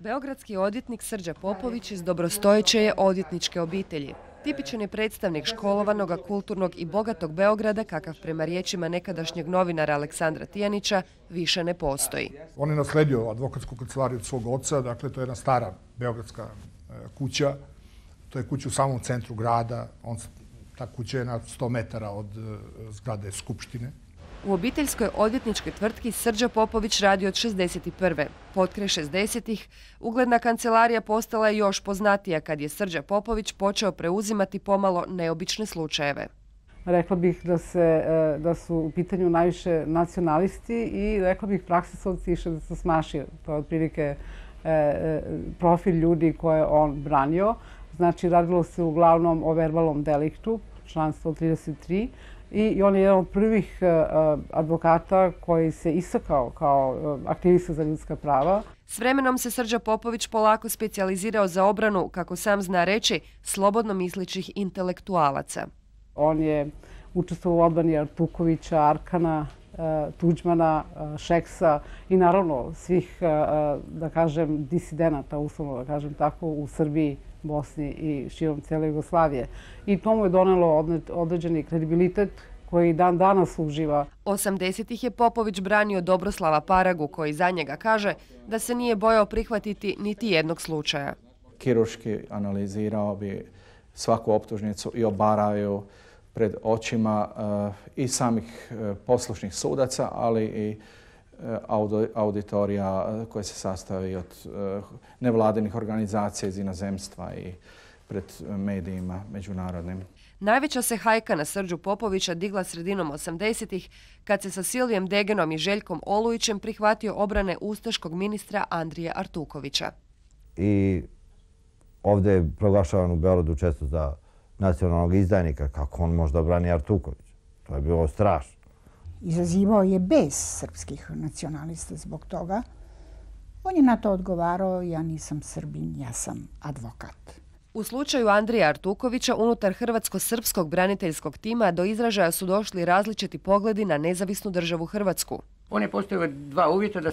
Beogradski odvjetnik Srđa Popović iz dobrostojeće je odvjetničke obitelji. Tipičan je predstavnik školovanog, kulturnog i bogatog Beograda, kakav prema riječima nekadašnjeg novinara Aleksandra Tijanića više ne postoji. On je nasledio advokatsku kancelariju od svog oca, dakle to je jedna stara beogradska kuća. To je kuća u samom centru grada, ta kuća je na 100 metara od zgrade Skupštine. U obiteljskoj odvjetničkoj tvrtki Srđa Popović radi od 61. Potkraj 60-ih ugledna kancelarija postala je još poznatija kad je Srđa Popović počeo preuzimati pomalo neobične slučajeve. Rekla bih da su u pitanju najviše nacionalisti i rekla bih praksisovci i šestosmaši. To je otprilike profil ljudi koje on branio. Znači, radilo se uglavnom o verbalnom deliktu, član 133. I on je jedan od prvih advokata koji se istakao kao aktivista za ljudska prava. S vremenom se Srđa Popović polako specijalizirao za obranu, kako sam zna reći, slobodno mislećih intelektualaca. On je učestvovao u odbrani Artukovića, Arkana, Tuđmana, Šeksa i naravno svih, da kažem, disidenata, uslovno da kažem tako, u Srbiji, Bosni i širom cijele Jugoslavije. I to mu je donelo određeni kredibilitet koji dan danas uživa. 80-ih je Popović branio Dobroslava Paragu, koji za njega kaže da se nije bojao prihvatiti niti jednog slučaja. Kirurški analizirao bi svaku optužnicu i obarao ju pred očima i samih poslušnih sudaca, ali i auditorija koje se sastoji od nevladinih organizacija iz inozemstva i pred medijima međunarodnim. Najveća se hajka na Srđu Popovića digla sredinom 80-ih kad se sa Silvijem Degenom i Željkom Olujićem prihvatio obrane ustaškog ministra Andrije Artukovića. I ovdje je proglašavan u Beogradu često za nacionalnog izdajnika, kako on možda brani Artuković. To je bilo strašno. Izazivao je bes srpskih nacionalista zbog toga. On je na to odgovarao: ja nisam Srbin, ja sam advokat. U slučaju Andrija Artukovića unutar hrvatsko-srpskog braniteljskog tima do izražaja su došli različiti pogledi na nezavisnu državu Hrvatsku. On je postavio dva uvjeta: da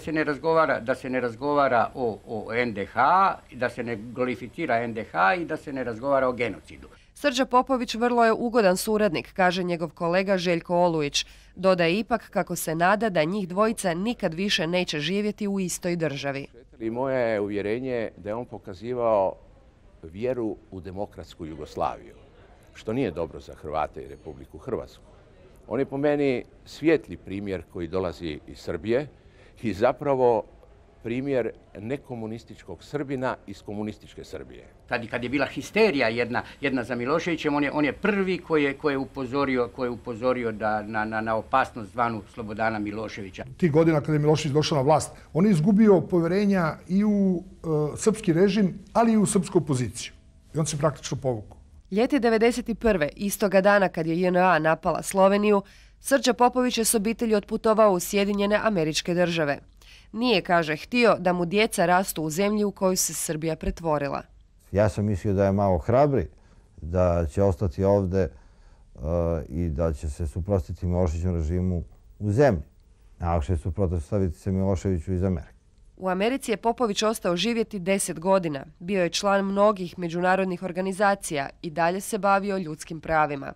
se ne razgovara o NDH, da se ne glorificira NDH i da se ne razgovara o genocidu. Srđa Popović vrlo je ugodan suradnik, kaže njegov kolega Željko Olujić. Dodaje ipak kako se nada da njih dvojica nikad više neće živjeti u istoj državi. I moje je uvjerenje da je on pokazivao vjeru u demokratsku Jugoslaviju, što nije dobro za Hrvate i Republiku Hrvatsku. On je po meni svijetli primjer koji dolazi iz Srbije i zapravo primjer nekomunističkog Srbina iz komunističke Srbije. Kad je bila histerija jedna za Miloševićem, on je prvi koji je upozorio na opasnost zvanu Slobodana Miloševića. Tih godina kada je Milošević došao na vlast, on je izgubio poverenja i u srpski režim, ali i u srpsku opoziciju. I on se praktično povukao. Ljeti 1991. istoga dana kad je JNA napala Sloveniju, Srđa Popović je s obitelji otputovao u Sjedinjene Američke Države. Nije, kaže, htio da mu djeca rastu u zemlji u koju se Srbija pretvorila. Ja sam mislio da je malo hrabri, da će ostati ovdje i da će se suprotstaviti Miloševićevom režimu u zemlji. Najlakše je suprotstaviti se Miloševiću iz Amerike. U Americi je Popović ostao živjeti 10 godina. Bio je član mnogih međunarodnih organizacija i dalje se bavio ljudskim pravima.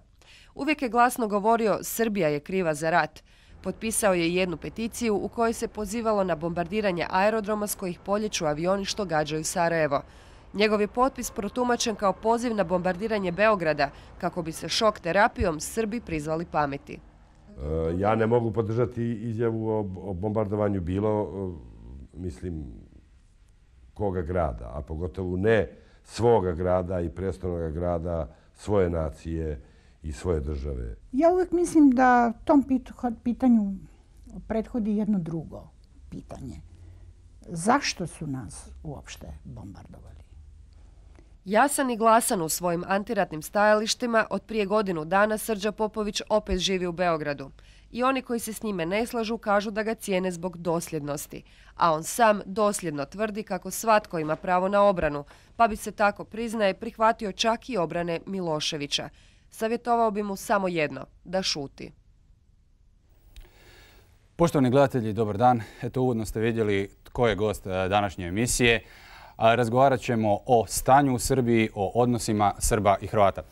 Uvijek je glasno govorio: Srbija je kriva za rat. Potpisao je jednu peticiju u kojoj se pozivalo na bombardiranje aerodroma s kojih poljeću avioni što gađaju Sarajevo. Njegov je potpis protumačen kao poziv na bombardiranje Beograda kako bi se šok terapijom Srbi prizvali pameti. Ja ne mogu podržati izjavu o bombardovanju mislim, koga grada, a pogotovo ne svoga grada i prestolnoga grada, svoje nacije i svoje države. Ja uvijek mislim da tom pitanju prethodi jedno drugo pitanje. Zašto su nas uopšte bombardovali? Jasan i glasan u svojim antiratnim stajalištima, od prije godinu dana Srđa Popović opet živi u Beogradu. I oni koji se s njime ne slažu kažu da ga cijene zbog dosljednosti. A on sam dosljedno tvrdi kako svatko ima pravo na obranu, pa bi se tako, priznaje, prihvatio čak i obrane Miloševića. Savjetovao bi mu samo jedno, da šuti. Poštovani gledatelji, dobar dan. Eto, uvodno ste vidjeli tko je gost današnje emisije. Razgovarat ćemo o stanju u Srbiji, o odnosima Srba i Hrvata.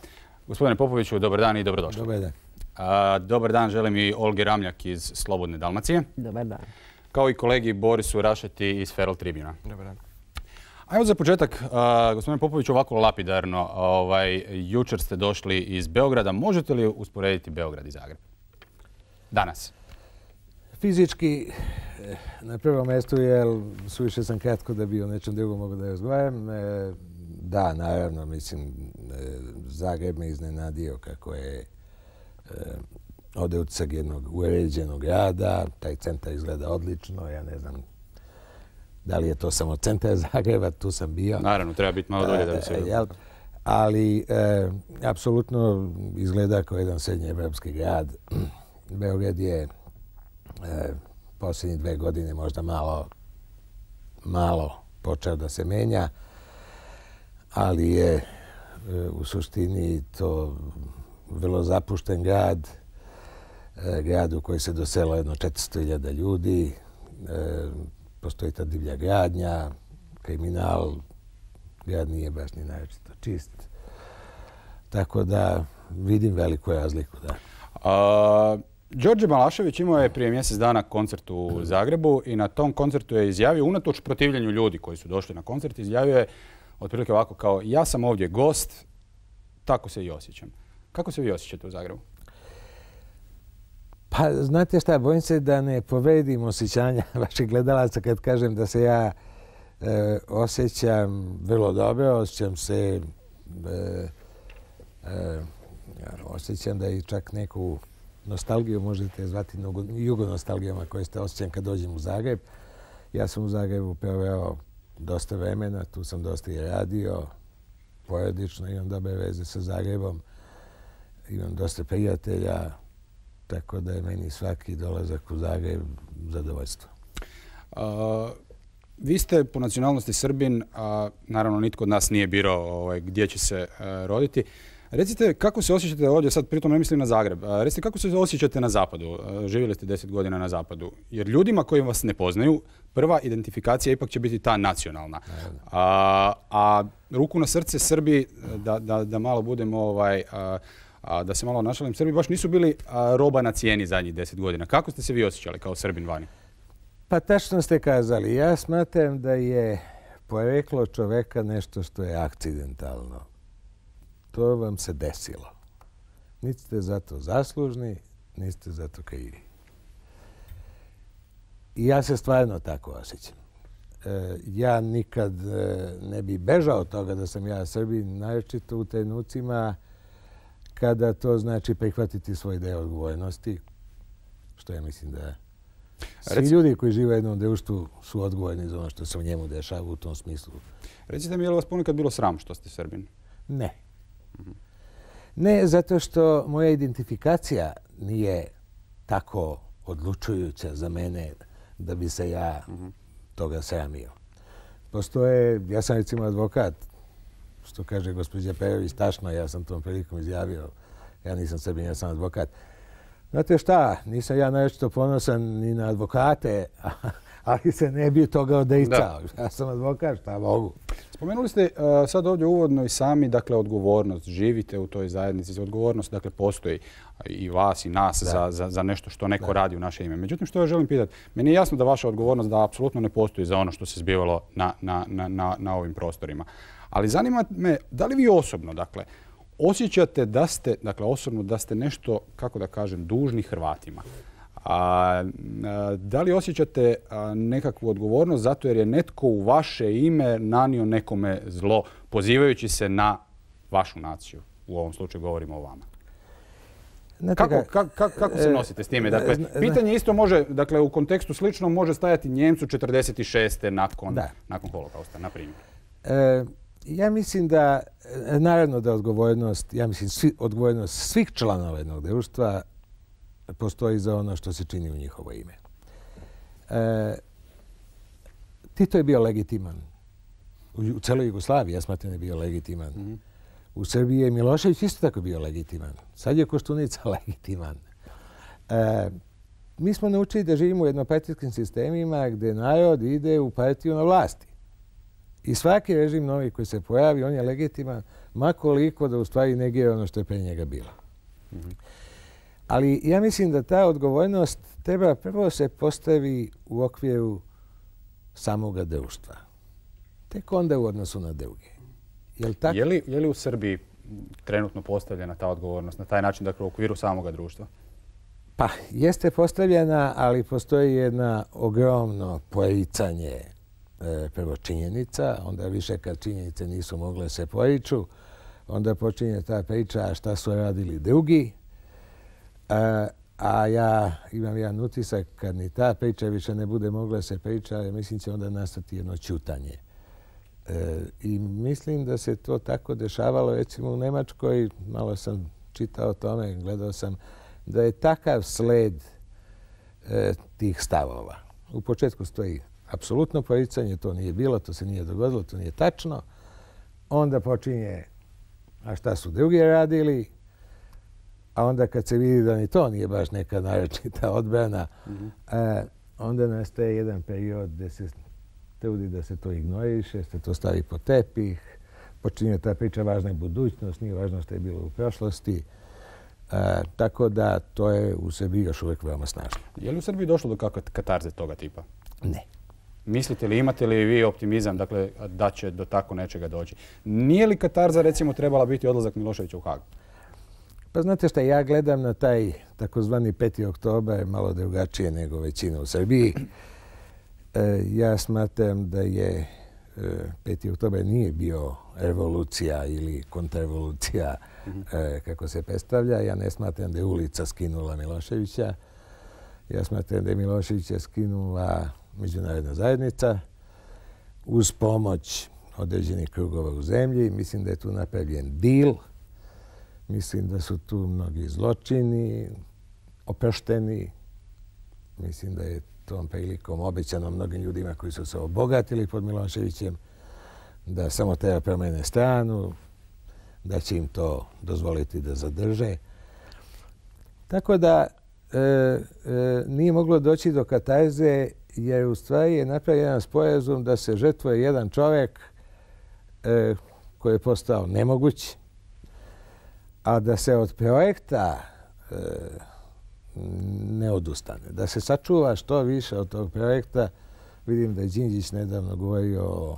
Gospodine Popoviću, dobar dan i dobrodošli. Dobar dan. Dobar dan želim i Olgi Ramljak iz Slobodne Dalmacije. Dobar dan. Kao i kolegi Borisu Rašeti iz Feral Tribuna. Dobar dan. A evo za početak, gospodine Popović, ovako lapidarno. Jučer ste došli iz Beograda. Možete li usporediti Beograd i Zagreb? Danas. Fizički, na prvom mjestu, jer suviše sam kratko da bi o nečem drugom mogu da razgovaram. Da, naravno, mislim, Zagreb me iznenadio kako je ovdje utisak jednog uređenog grada. Taj centar izgleda odlično, ja ne znam da li je to samo centar Zagreba, tu sam bio. Naravno, treba biti malo dolje da bi se vidio. Ali, apsolutno izgleda kao jedan srednjeevropski grad. Beograd je posljednjih 2 godine možda malo počeo da se menja, ali je u suštini to vrlo zapušten grad, grad u koji se doselo jedno 400.000 ljudi, postoji ta divlja gradnja, kriminal, grad nije baš ni naročito čist. Tako da vidim veliku razliku, da. Đorđe Balašević imao je prije mjesec dana koncert u Zagrebu i na tom koncertu je izjavio, unatoč protivljenju ljudi koji su došli na koncert, izjavio je otprilike ovako kao: ja sam ovdje gost, tako se i osjećam. Kako se vi osjećate u Zagrebu? Pa, znate šta, bojim se da ne povredim osjećanja vaših gledalaca kad kažem da se ja osjećam vrlo dobro, osjećam se, osjećam da i čak neku nostalgiju možete zvati jugonostalgijama koje ste osjećam kad dođem u Zagreb. Ja sam u Zagrebu proveo dosta vremena, tu sam dosta i radio, porodično imam dobre veze sa Zagrebom, imam dosta prijatelja, tako da je meni svaki dolazak u Zagreb zadovoljstvo. Vi ste po nacionalnosti Srbin, a naravno nitko od nas nije birao gdje će se roditi. Recite kako se osjećate ovdje, sad pritom ne mislim na Zagreb, recite kako se osjećate na zapadu, živjeli ste 10 godina na zapadu, jer ljudima koji vas ne poznaju, prva identifikacija ipak će biti ta nacionalna. A ruku na srce Srbi, da malo budemo, da se malo našalim, Srbi baš nisu bili roba na cijeni zadnjih 10 godina. Kako ste se vi osjećali kao Srbin vani? Pa tačno ste kazali, ja smatram da je poreklo čoveka nešto što je akcidentalno. To vam se desilo. Niti ste za to zaslužni, niti ste za to krivi. I ja se stvarno tako osjećam. Ja nikad ne bi bežao od toga da sam ja Srbin, naročito u trenucima kada to znači prihvatiti svoj deo odgovornosti, što ja mislim da svi ljudi koji žive u jednom društvu su odgovorni za ono što se u njemu dešava u tom smislu. Recite mi, je li vas ponekad bilo sram što ste Srbin? Ne. Ne, zato što moja identifikacija nije tako odlučujuća za mene da bi se ja toga sramio. Postoje, ja sam recimo advokat, što kaže gospođa Perović, tačno, ja sam tom prilikom izjavio, ja nisam Srbin, ja sam advokat. Znate šta, nisam ja naročito ponosan ni na advokate, ali se ne bi toga odricao. Ja sam advokat, šta mogu. Spomenuli ste sad ovdje uvodno i sami, dakle, odgovornost. Živite u toj zajednici, odgovornost, dakle, postoji i vas i nas za nešto što neko radi u naše ime. Međutim, što ja želim pitati, meni je jasno da vaša odgovornost da apsolutno ne postoji za ono što se zbivalo na ovim prostorima. Ali zanima me, da li vi osobno, dakle, osjećate da ste, dakle, osobno da ste nešto, kako da kažem, dužni Hrvatima? Da li osjećate nekakvu odgovornost zato jer je netko u vaše ime nanio nekome zlo, pozivajući se na vašu naciju? U ovom slučaju govorimo o vama. Kako se nosite s time? Dakle, pitanje isto može, dakle, u kontekstu sličnom može stajati Njemcu 46. nakon holokausta, na primjer. Ja mislim da, naravno da odgovornost, ja mislim odgovornost svih članova jednog društva postoji za ono što se čini u njihovo ime. Tito je bio legitiman. U celoj Jugoslaviji, ja smatram da je bio legitiman. U Srbiji je Milošević isto tako bio legitiman. Sad je Koštunica legitiman. Mi smo naučili da živimo u jednopartijskim sistemima gdje narod ide u partiju na vlasti. I svaki režim novi koji se pojavi, on je legitiman, makoliko da u stvari negira ono što je pre njega bilo. Ali ja mislim da ta odgovornost treba prvo se postavi u okviru samoga društva. Tek onda u odnosu na druge. Je li u Srbiji trenutno postavljena ta odgovornost na taj način, dakle u okviru samoga društva? Pa, jeste postavljena, ali postoji jedna ogromno poricanje prvo činjenica, onda više kad činjenice nisu mogle se poriču, onda počinje ta priča šta su radili drugi, a ja imam jedan utisak kad ni ta priča više ne bude mogla se priča, mislim će onda nastati jedno ćutanje. I mislim da se to tako dešavalo recimo u Nemačkoj, malo sam čitao o tome, gledao sam da je takav sled tih stavova. U početku stoji apsolutno poricanje, to nije bilo, to se nije dogodilo, to nije tačno. Onda počinje, a šta su drugi radili, a onda kad se vidi da ni to nije baš neka naročita odbrana, onda nastaje jedan period gdje se trudi da se to ignoriše, se to stavi pod tepih, počinje ta priča važna je budućnost, nije važno što je bilo u prošlosti. Tako da to je u Srbiji još uvijek veoma snažno. Je li u Srbiji došlo do kakve katarze toga tipa? Ne. Mislite li, imate li vi optimizam dakle, da će do tako nečega doći? Nije li katarza recimo trebala biti odlazak Miloševića u Hag? Pa znate šta, ja gledam na taj takozvani 5. oktobar malo drugačije nego većina u Srbiji. Ja smatram da je 5. oktobar nije bio revolucija ili kontrrevolucija kako se predstavlja. Ja ne smatram da je ulica skinula Miloševića. Ja smatram da je Miloševića skinula međunarodna zajednica uz pomoć određenih krugova u zemlji. Mislim da je tu napravljen deal. Mislim da su tu mnogi zločini oprošteni. Mislim da je tom prilikom obećano mnogim ljudima koji su se obogatili pod Miloševićem da samo treba promene stranu, da će im to dozvoliti da zadrže. Tako da nije moglo doći do katarze jer u stvari je napravljen jedan sporazum da se žrtvuje jedan čovjek koji je postao nemoguć, a da se od projekta ne odustane. Da se sačuva što više od tog projekta. Vidim da je Đinđić nedavno govorio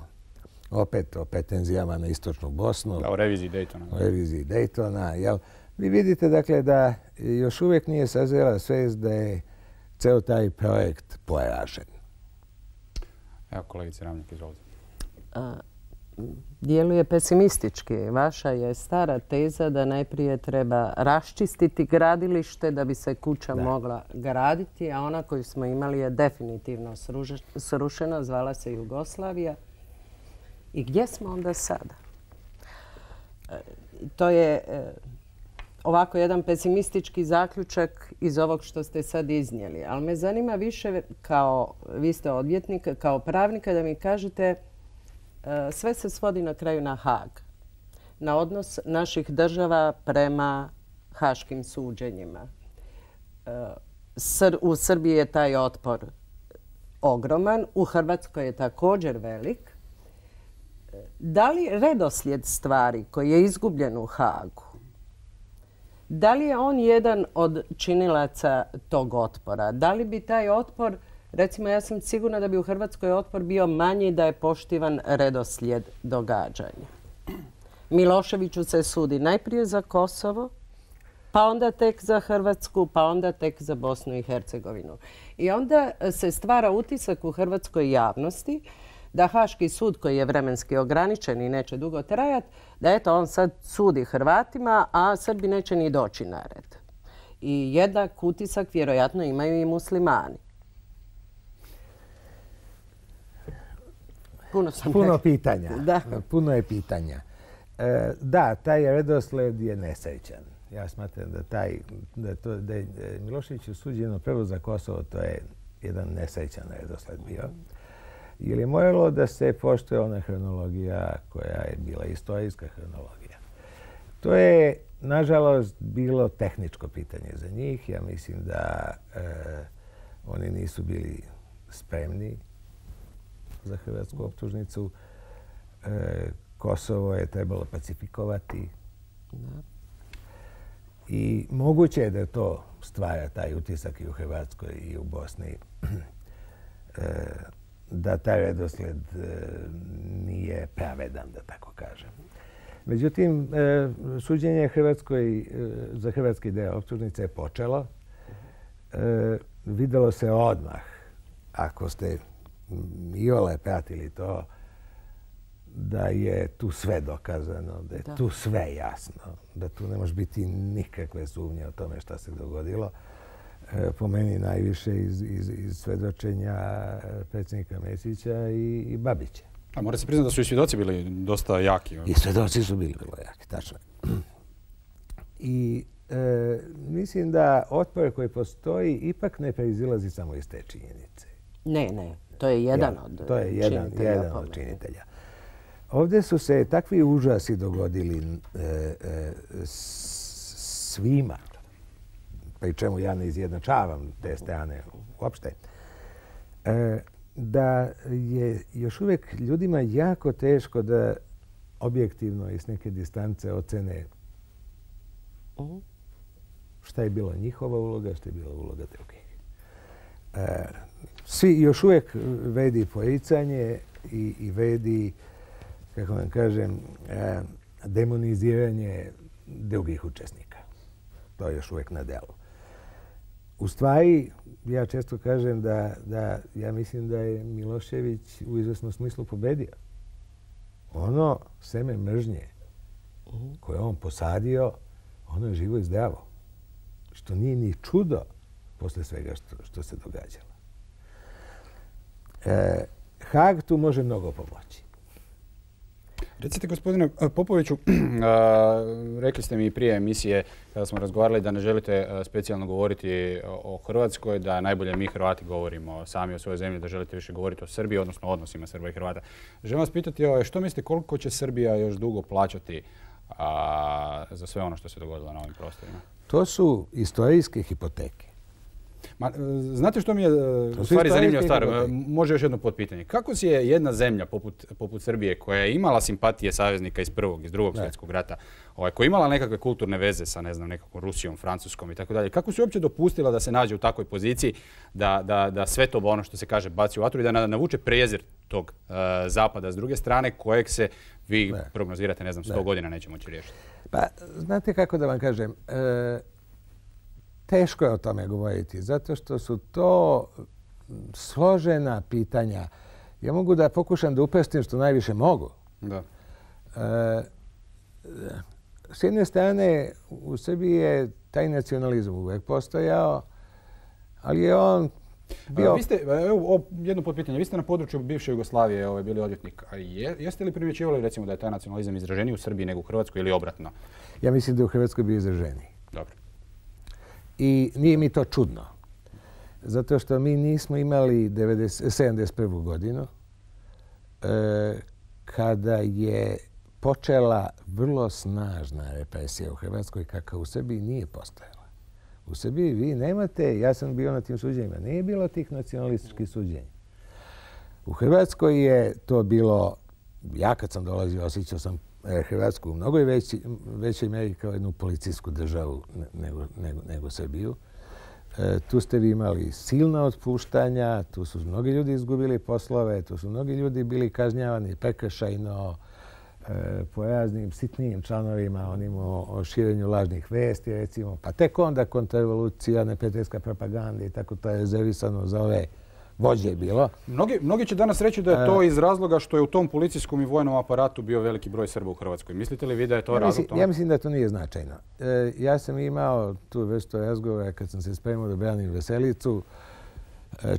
opet o pretenzijama na istočnu Bosnu. O reviziji Daytona. O reviziji Daytona. Vi vidite dakle da još uvijek nije sazrela svest da je ceo taj projekt poražen. Evo kolegice Ramljak, izvolite. Djeluje pesimistički. Vaša je stara teza da najprije treba raščistiti gradilište da bi se kuća mogla graditi, a ona koju smo imali je definitivno srušena, zvala se Jugoslavija. I gdje smo onda sada? To je ovako jedan pesimistički zaključak iz ovog što ste sad iznijeli. Ali me zanima više kao, vi ste odvjetnik, kao pravnika da mi kažete sve se svodi na kraju na Hag. Na odnos naših država prema haškim suđenjima. U Srbiji je taj otpor ogroman, u Hrvatskoj je također velik. Da li redoslijed stvari koji je izgubljen u Hagu, da li je on jedan od činilaca tog otpora? Da li bi taj otpor, recimo ja sam sigurna da bi u Hrvatskoj otpor bio manji da je poštivan redoslijed događanja. Miloševiću se sudi najprije za Kosovo, pa onda tek za Hrvatsku, pa onda tek za Bosnu i Hercegovinu. I onda se stvara utisak u hrvatskoj javnosti da Haški sud, koji je vremenski ograničen i neće dugo trajati, da eto on sad sudi Hrvatima, a Srbi neće ni doći na red. I jednak utisak vjerojatno imaju i muslimani. Puno pitanja. Puno je pitanja. Da, taj redosled je nesrećan. Ja smatram da je Miloševiću suđeno prvo za Kosovo, to je jedan nesrećan redosled bio. Jer je moralo da se poštuje ona hronologija koja je bila istorijska hronologija. To je, nažalost, bilo tehničko pitanje za njih. Ja mislim da oni nisu bili spremni za hrvatsku optužnicu. Kosovo je trebalo pacifikovati. I moguće je da to stvara taj utisak i u Hrvatskoj i u Bosni, da taj redosled nije pravedan, da tako kažem. Međutim, suđenje za hrvatski deo optužnice je počelo. Videlo se odmah, ako ste iole pratili to, da je tu sve dokazano, da je tu sve jasno, da tu ne može biti nikakve sumnje o tome šta se dogodilo. Po meni najviše iz svedočenja predsjednika Mesića i Babića. A mora se priznati da su i svjedoci bili dosta jaki. I svjedoci su bili vrlo jaki, tačno. I mislim da otpor koji postoji ipak ne proizilazi samo iz te činjenice. Ne. To je jedan od činitelja. Ovdje su se takvi užasi dogodili svima, pri čemu ja ne izjednačavam te strane uopšte, da je još uvijek ljudima jako teško da objektivno i s neke distance ocene šta je bila njihova uloga, šta je bila uloga drugih. Svi još uvijek vedi poricanje i vedi, kako vam kažem, demoniziranje drugih učesnika. To je još uvijek na delu. U stvari, ja često kažem da ja mislim da je Milošević u izvesnom smislu pobedio. Ono seme mržnje koje on posadio, ono je živo i zdravo. Što nije ni čudo posle svega što se događalo. Haag tu može mnogo pomoći. Recite, gospodine Popoviću, rekli ste mi prije emisije kada smo razgovarali da ne želite specijalno govoriti o Hrvatskoj, da najbolje mi Hrvati govorimo sami o svojoj zemlji, da želite više govoriti o Srbiji, odnosno odnosima Srba i Hrvata. Želim vas pitati što mislite koliko će Srbija još dugo plaćati za sve ono što se dogodilo na ovim prostorima? To su istorijske hipoteke. Znate što mi je u stvari zanimljiva stvar? Može još jedno potpitanje. Kako si je jedna zemlja poput Srbije koja je imala simpatije saveznika iz Prvog, iz Drugog svjetskog rata, koja je imala nekakve kulturne veze sa nekakvom Rusijom, Francuskom i tako dalje, kako si uopće dopustila da se nađe u takvoj poziciji da sve to ono što se kaže baci u vatru i da navuče prezir tog zapada s druge strane kojeg se vi prognozirate, 100 godina neće moći riješiti? Pa, znate kako da vam kažem, teško je o tome govoriti, zato što su to složena pitanja. Ja mogu da pokušam da upestim što najviše mogu. Da. S jedne strane, u Srbiji je taj nacionalizam uvijek postojao, ali je on bio... Jedno potpitanje. Vi ste na području bivše Jugoslavije bili odvjetnik. Jeste li primjećivali recimo da je taj nacionalizam izraženiji u Srbiji nego u Hrvatskoj ili obratno? Ja mislim da je u Hrvatskoj bio izraženiji. Dobro. I nije mi to čudno. Zato što mi nismo imali 71. godinu kada je počela vrlo snažna represija u Hrvatskoj kakva u Srbiji nije postojala. U Srbiji vi nemate, ja sam bio na tim suđenjima, nije bilo tih nacionalističkih suđenja. U Hrvatskoj je to bilo, ja kad sam dolazio osjećao sam Hrvatsku u mnogo većoj meri kao jednu policijsku državu nego Srbiju. Tu ste vi imali silna otpuštanja, tu su mnogi ljudi izgubili poslove, tu su mnogi ljudi bili kažnjavani prekršajno po raznim sitnijim članovima, o širenju lažnih vesti, recimo. Pa tek onda kontrarevolucija, neprijateljska propaganda i tako to je rezervisano za ove vođe je bilo. Mnogi će danas reći da je to iz razloga što je u tom policijskom i vojnom aparatu bio veliki broj Srba u Hrvatskoj. Mislite li vi da je to razlog tome? Ja mislim da to nije značajno. Ja sam imao tu vrstu razgovora kad sam se spremao da branim Veselicu,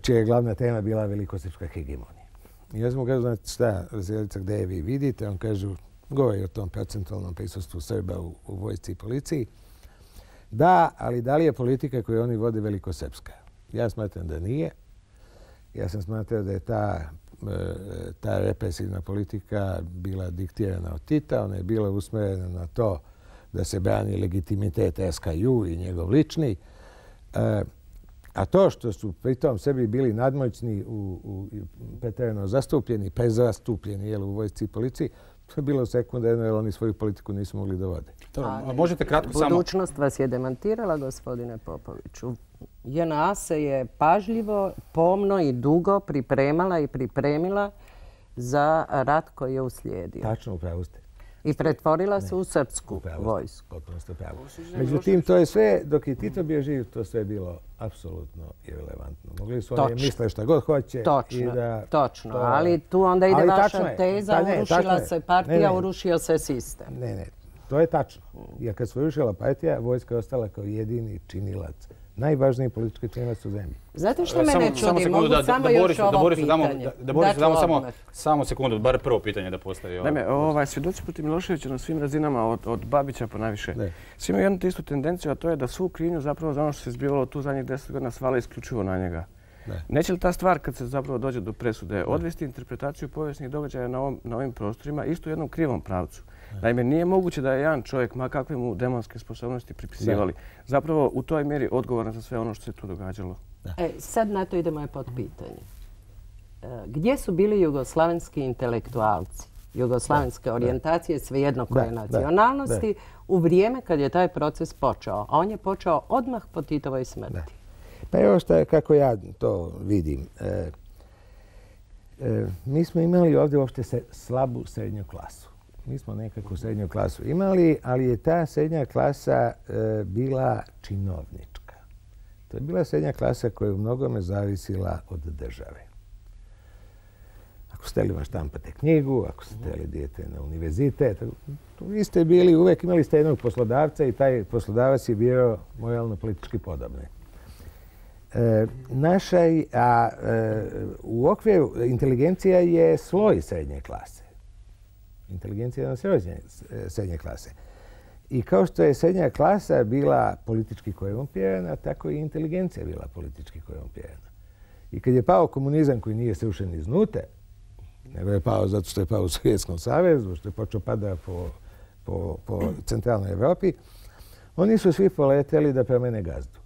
čija je glavna tema bila velikosrpska hegemonija. I ja sam mu kažu, znate šta, Veselica, gde je vi vidite? On kažu, govori o tom procentualnom prisustvu Srba u vojsci i policiji. Da, ali da li je politika koju oni vode velikosrpska? Ja smatram da nije. Ja sam smatrao da je ta represivna politika bila diktirana od Tita. Ona je bila usmjerena na to da se brani legitimitet SKJ i njegov lični. A to što su pritom sebi bili nadmoćni, pretjerano zastupljeni, prezastupljeni u vojsci i policiji, to je bilo sekundarno jer oni svoju politiku nisu mogli da vode. A možete kratko samo... Budućnost vas je demantirala, gospodine Popoviću. JNA se je pažljivo, pomno i dugo pripremala i pripremila za rat koji je uslijedio. Tačno, upravo ste. I pretvorila se u srpsku vojsku. Potpuno ste pravo. Međutim, to je sve, dok je Tito bio živ, to sve je bilo apsolutno irelevantno. Mogli su oni misle šta god hoće. Točno, ali tu onda ide vaša teza, urušila se partija, urušio se sistem. Ne, to je tačno. Jer kad se urušila partija, vojska je ostala kao jedini činilac. Najvažniji politički činilac u zemlji. Znate što mene čudi? Mogu samo još ovo pitanje. Da Boris damo samo sekundu, bar prvo pitanje da postavi. Naime, svjedoci protiv Miloševića na svim razinama, od Babića po najviše, svi imaju jednu istu tendenciju, a to je da svu krivnju zapravo za ono što se zbivalo tu zadnjih 10 godina svale isključivo na njega. Neće li ta stvar, kad se zapravo dođe do presude, odvesti interpretaciju povijesnih događaja na ovim prostorima isto u jednom krivom pravcu? Naime, nije moguće da je jedan čovjek, ma kakve mu demonske sposobnosti pripisivali, zapravo u toj mjeri odgovoran za sve ono što se tu događalo. Sad na to ide moje potpitanje. Gdje su bili jugoslavenski intelektualci, jugoslavenske orijentacije, svejedno koje nacionalnosti, u vrijeme kad je taj proces počeo? A on je počeo odmah po Titovoj smrti. Pa evo kako ja to vidim. Mi smo imali ovdje uopšte slabu srednju klasu. Mi smo nekakvu srednju klasu imali, ali je ta srednja klasa bila činovnička. To je bila srednja klasa koja je u mnogome zavisila od države. Ako ste htjeli štampate knjigu, ako ste htjeli dijete na univerzitet, vi ste bili, uvijek imali ste jednog poslodavca i taj poslodavac je bio moralno-politički podobni. U okviru inteligencija je sloj srednje klase. Inteligencija je na srednje klase. I kao što je srednja klasa bila politički korumpirana, tako i inteligencija bila politički korumpirana. I kad je pao komunizam koji nije srušen iznutra, nego je pao zato što je pao u Sovjetskom savezu, što je počeo pada po centralnoj Evropi, oni su svi poleteli da promene gazdu.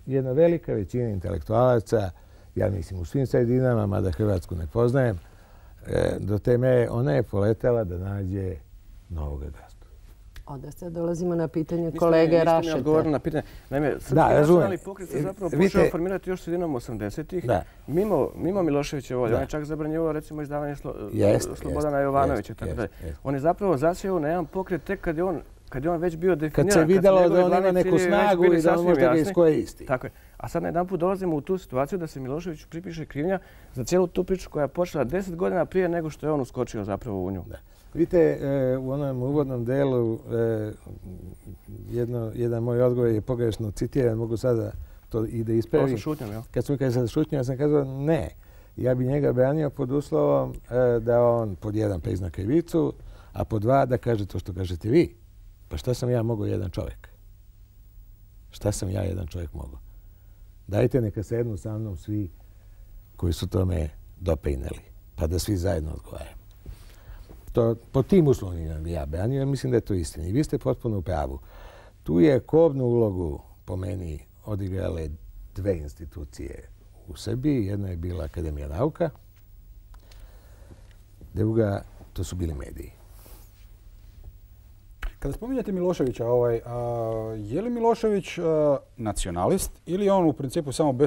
Jedna velika većina intelektualaca, ja mislim u svim sredinama, mada Hrvatsku ne poznajem, do te mere ona je poletela da nađe novog gazdu. Onda sad dolazimo na pitanje kolege Rašeta. Niste mi odgovorili na pitanje. Naime, Srpski nacionalni pokret se zapravo počeo formirati još sredinom 80-ih, mimo Miloševića volje. On je čak zabranjivao recimo izdavanje Slobodana Jovanovića. On je zapravo zasjeo na jedan pokret tek kad je on već bio definiran. Kad se vidjelo da on ima neku snagu i da on može da ga iskoristi. Tako je. A sad na jedan put dolazimo u tu situaciju da se Miloševiću pripiše krivnja za cijelu tu priču koja je počela 10 godina prije nego što je on uskočio zapravo u nju. Vidite, u onom uvodnom delu jedan moj odgovor je pogrešno citiran, mogu sada to i da ispravim. Ovo sa šutnjom, jel? Kad smo mi kada šutnjom, ja sam kazao ne. Ja bi njega branio pod uslovom da on pod jedan prizna krivicu, a pod dva da kaže to što kažete vi. Pa šta sam ja mogao jedan čovjek? Šta sam ja jedan čovjek mogao? Dajte neka sednu sa mnom svi koji su tome doprineli, pa da svi zajedno odgovaramo. Po tim uslovima bi ja branio, ja mislim da je to istina. I vi ste potpuno u pravu. Tu je kobnu ulogu, po meni, odigrale dve institucije u Srbiji. Jedna je bila Akademija nauka, druga, to su bili mediji. Kada spominjate Miloševića, je li Milošević nacionalist ili je on u principu samo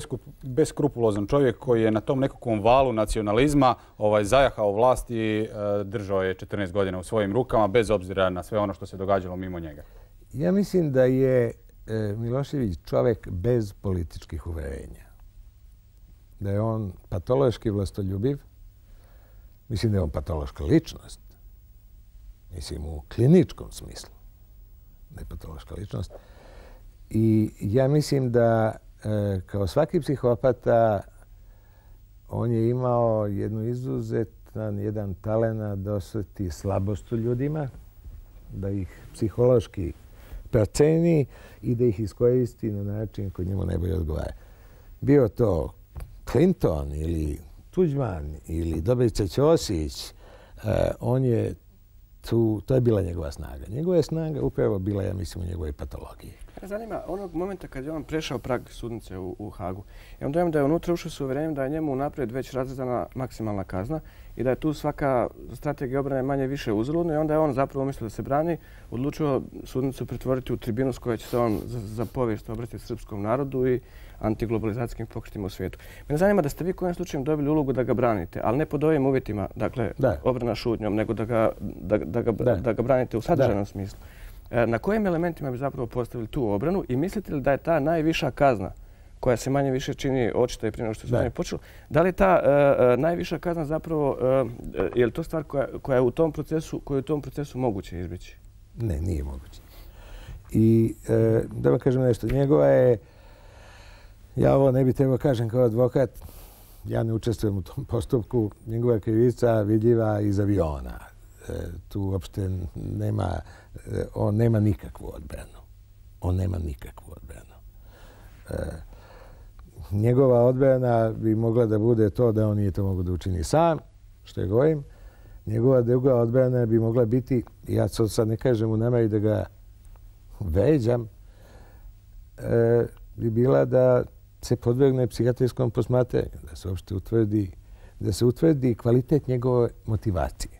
beskrupulozan čovjek koji je na tom nekakvom valu nacionalizma zajahao vlast i držao je 14 godina u svojim rukama bez obzira na sve ono što se događalo mimo njega? Ja mislim da je Milošević čovjek bez političkih uverenja. Da je on patološki vlastoljubiv. Mislim da je on patološka ličnost. Mislim, u kliničkom smislu, ne patološka ličnost. I ja mislim da kao svaki psihopata on je imao jedan talent da osjeti slabost u ljudima, da ih psihološki proceni i da ih iskoristi na način koji njemu najbolje odgovara. Bio to Clinton ili Tuđman ili Dobrica Ćosić, on je To je bila njegova snaga. Njegova je snaga upravo bila, ja mislim, u njegovoj patologiji. Zanima onog momenta kad je on prešao prag sudnice u Hagu. Imam dojam da je unutra ušao s uvjerenjem da je njemu unaprijed već razrezana maksimalna kazna i da je tu svaka strategija obrane manje više uzaludna i onda je on zapravo umjesto da se brani odlučio sudnicu pretvoriti u tribinu s kojoj će se on za povijest obratiti srpskom narodu i antiglobalizacijskim pokretima u svijetu. Mene zanima da ste vi kojim slučajem dobili ulogu da ga branite, ali ne pod ovim uvjetima, dakle obrana šutnjom, nego da ga branite u sadržajnom smislu. Na kojim elementima bi zapravo postavili tu obranu i mislite li da je ta najviša kazna koja se manje više čini očita i prije nego što se manje počelo, da li ta najviša kazna zapravo, je li to stvar koja je u tom procesu moguće izbjeći? Ne, nije moguće. I da vam kažem nešto, njegova je, ja ovo ne bi trebao kažem kao advokat, ja ne učestvujem u tom postupku, njegova je krivica vidljiva iz aviona. Tu uopšte on nema nikakvu odbranu. On nema nikakvu odbranu. Njegova odbrana bi mogla da bude to da on nije to mogao da učini sam, što je govorim. Njegova druga odbrana bi mogla biti, ja sad ne kažem u nameri da ga vređam, bi bila da se podvrgne psihijatrijskom posmatranju, da se uopšte utvrdi kvalitet njegove motivacije.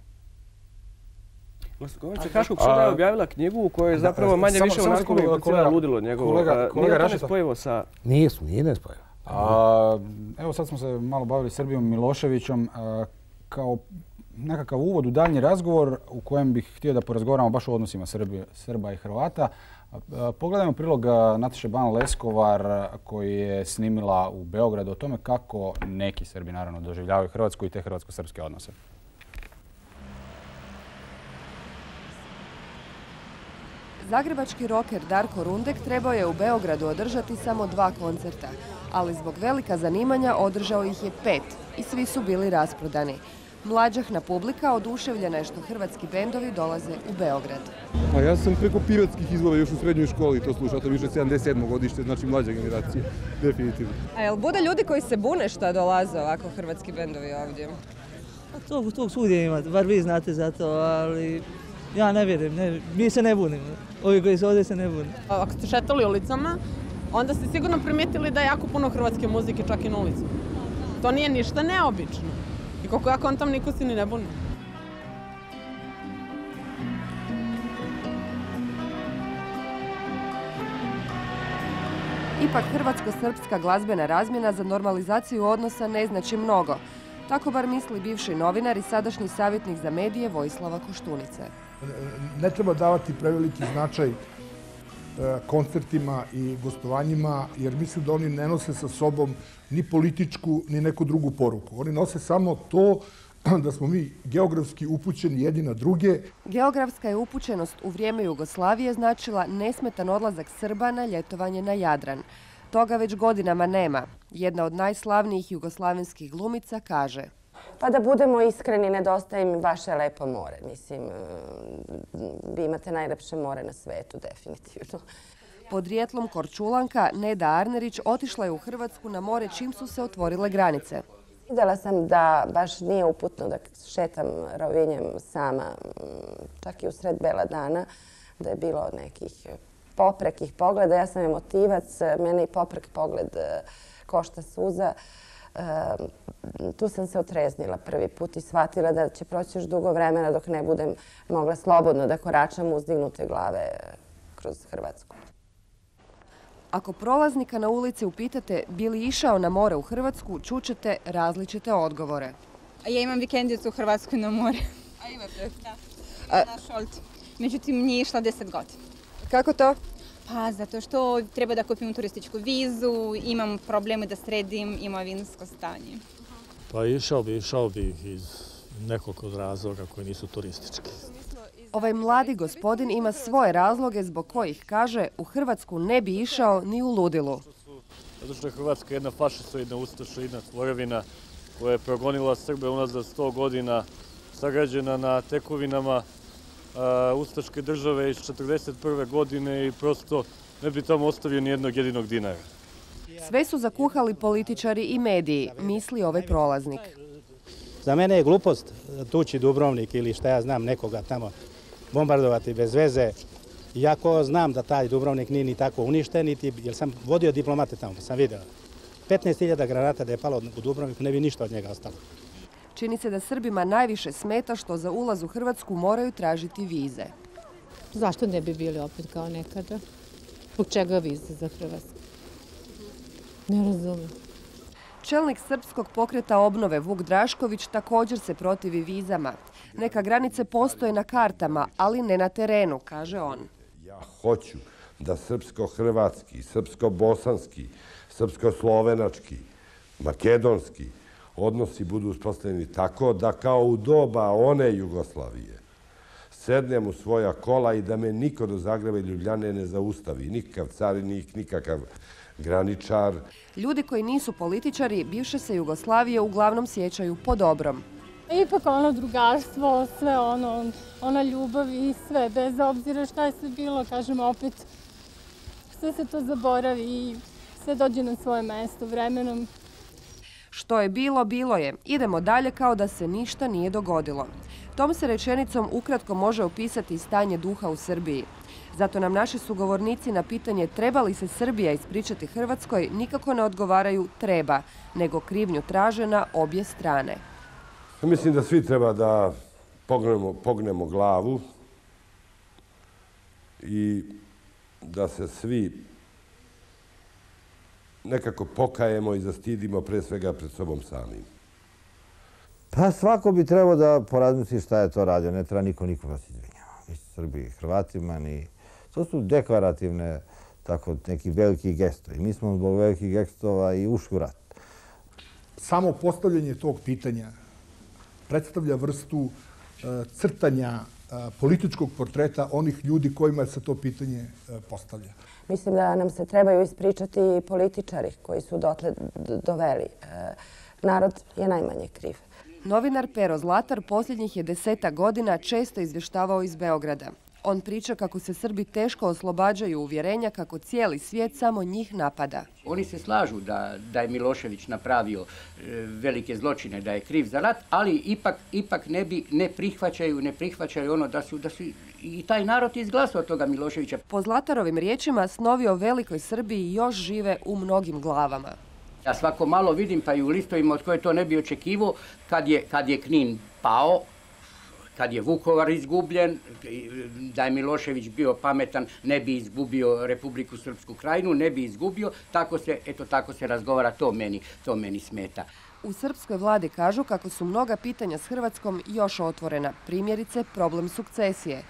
Glasnogovornica Haškog suda je objavila knjigu u kojoj je zapravo manje više onako implicira ludilo njegovo. Nije to nespojivo sa... Nije nespojivo. Evo sad smo se malo bavili Srbijom Miloševićem kao nekakav uvod u daljnji razgovor u kojem bih htio da porazgovaramo baš o odnosima Srba i Hrvata. Pogledajmo prilog Nataše Ban Leskovar koji je snimila u Beogradu o tome kako neki Srbi naravno doživljavaju Hrvatsku i te hrvatsko-srpske odnose. Zagrebački roker Darko Rundek trebao je u Beogradu održati samo 2 koncerta, ali zbog velika zanimanja održao ih je 5 i svi su bili rasprodani. Mlađahna publika oduševljena je što hrvatski bendovi dolaze u Beograd. A ja sam preko piratskih izvora još u srednjoj školi to slušao, to više 77. godište, znači mlađa generacija, definitivno. A jel bude ljudi koji se bune što dolaze ovako hrvatski bendovi ovdje? To svugdje ima, bar vi znate za to, ali ja ne vjerujem, mi se ne bunimo. Ovi koji su ovdje se ne bune. Ako ste šetali ulicama, onda ste sigurno primijetili da je jako puno hrvatske muzike čak i na ulicu. To nije ništa neobično. I koliko ja kontam, niko se ni ne buni. Ipak hrvatsko-srpska glazbena razmjena za normalizaciju odnosa ne znači mnogo. Tako bar misli bivši novinar i sadašnji savjetnik za medije Vojislava Koštunice. Ne treba davati preveliki značaj koncertima i gostovanjima, jer mislim da oni ne nose sa sobom ni političku, ni neku drugu poruku. Oni nose samo to da smo mi geografski upućeni jedni na druge. Geografska je upućenost u vrijeme Jugoslavije značila nesmetan odlazak Srba na ljetovanje na Jadran. Toga već godinama nema. Jedna od najslavnijih jugoslavenskih glumica kaže: Pa da budemo iskreni, nedostaje mi vaše lepo more. Mislim, vi imate najlepše more na svetu, definitivno. Podrijetlom Korčulanka Neda Arnerić otišla je u Hrvatsku na more čim su se otvorile granice. Vidjela sam da baš nije uputno da šetam Rovinjem sama, čak i u sred bela dana, da je bilo nekih poprekih pogleda. Ja sam emotivac, mene i poprek pogled košta suza. Tu sam se otreznila prvi put i shvatila da će proći još dugo vremena dok ne budem mogla slobodno da koračam uzdignute glave kroz Hrvatsku. Ako prolaznika na ulici upitate bi li išao na more u Hrvatsku, čućete različite odgovore. Ja imam vikendicu u Hrvatskoj na more. A imate? Da, na Šolti. Međutim, nije išla 10 godina. Kako to? Pa zato što treba da kupim turističku vizu, imam probleme da sredim imovinsko stanje. Pa išao bi iz nekoliko razloga koji nisu turistički. Ovaj mladi gospodin ima svoje razloge zbog kojih, kaže, u Hrvatsku ne bi išao ni u ludilu. Zato što je Hrvatska jedna fašistoidna, ustašoidna tvorevina koja je progonila Srbe unazad 100 godina, sagrađena na tekovinama ustaške države iz 1941. godine i prosto ne bi tamo ostavio ni jednog jedinog dinara. Sve su zakuhali političari i mediji, misli ovaj prolaznik. Za mene je glupost tući Dubrovnik ili šta ja znam nekoga tamo bombardovati bez veze. Iako znam da taj Dubrovnik nije ni tako uništen, jer sam vodio diplomate tamo, pa sam vidio. 15.000 granata da je palo u Dubrovniku, ne bi ništa od njega ostalo. Čini se da Srbima najviše smeta što za ulaz u Hrvatsku moraju tražiti vize. Zašto ne bi bili opet kao nekada? Zbog čega vize za Hrvatsku? Ne razumijem. Čelnik Srpskog pokreta obnove Vuk Drašković također se protivi vizama. Neka granice postoje na kartama, ali ne na terenu, kaže on. Ja hoću da srpsko-hrvatski, srpsko-bosanski, srpsko-slovenački, makedonski odnosi budu uspostavljeni tako da kao u doba one Jugoslavije sednem u svoja kola i da me niko do Zagreba i Ljubljane ne zaustavi. Nikakav carinik, nikakav graničar. Ljudi koji nisu političari bivše se Jugoslavije uglavnom sjećaju po dobrom. Ipak ono drugarstvo, sve ona ljubav i sve, bez obzira šta je sve bilo, kažem opet, sve se to zaboravi i sve dođe na svoje mesto vremenom. Što je bilo, bilo je. Idemo dalje kao da se ništa nije dogodilo. Tom se rečenicom ukratko može opisati stanje duha u Srbiji. Zato nam naši sugovornici na pitanje treba li se Srbija ispričati Hrvatskoj nikako ne odgovaraju treba, nego krivnju traže na obje strane. Mislim da svi treba da pognemo glavu i da se svi nekako pokajemo i zastidimo pre svega pred sobom samim. Pa svako bi trebao da porazmisli šta je to radio. Ne treba niko nikoga se izvinjava. Ni Srbiji, Hrvatima, ni... To su deklarativne, tako, neki veliki gestovi. Mi smo zbog velikih gestova i ušli u rat. Samo postavljanje tog pitanja predstavlja vrstu crtanja političkog portreta onih ljudi kojima se to pitanje postavlja. Mislim da nam se trebaju ispričati političari koji su dotle doveli. Narod je najmanje kriv. Novinar Pero Zlatar posljednjih je 10 godina često izvještavao iz Beograda. On priča kako se Srbi teško oslobađaju uvjerenja kako cijeli svijet samo njih napada. Oni se slažu da je Milošević napravio velike zločine, da je kriv za rat, ali ipak ne prihvaćaju ono da su i taj narod izglasao toga Miloševića. Po Zlatarovim riječima snovi o velikoj Srbiji još žive u mnogim glavama. Ja svako malo vidim, pa i u listovima od koje to ne bi očekivao, kad je Knin pao, kad je Vukovar izgubljen, da je Milošević bio pametan, ne bi izgubio Republiku Srpsku Krajinu, ne bi izgubio, tako se razgovara, to meni smeta. U srpskoj vladi kažu kako su mnoga pitanja s Hrvatskom još otvorena, primjerice problem sukcesije.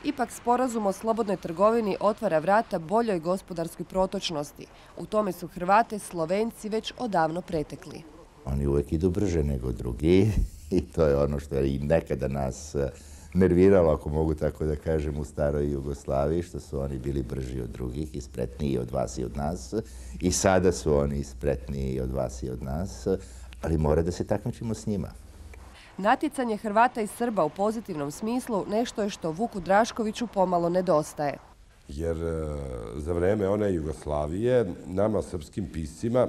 Ipak sporazum o slobodnoj trgovini otvara vrata boljoj gospodarskoj protočnosti. U tome su Hrvate, Slovenci već odavno pretekli. Oni uvijek idu brže nego drugi i to je ono što je i nekada nas nerviralo, ako mogu tako da kažem, u staroj Jugoslaviji, što su oni bili brži od drugih i spretniji od vas i od nas. I sada su oni spretniji od vas i od nas, ali mora da se takmičimo s njima. Natjecanje Hrvata i Srba u pozitivnom smislu nešto je što Vuku Draškoviću pomalo nedostaje. Jer za vreme one Jugoslavije nama, srpskim piscima,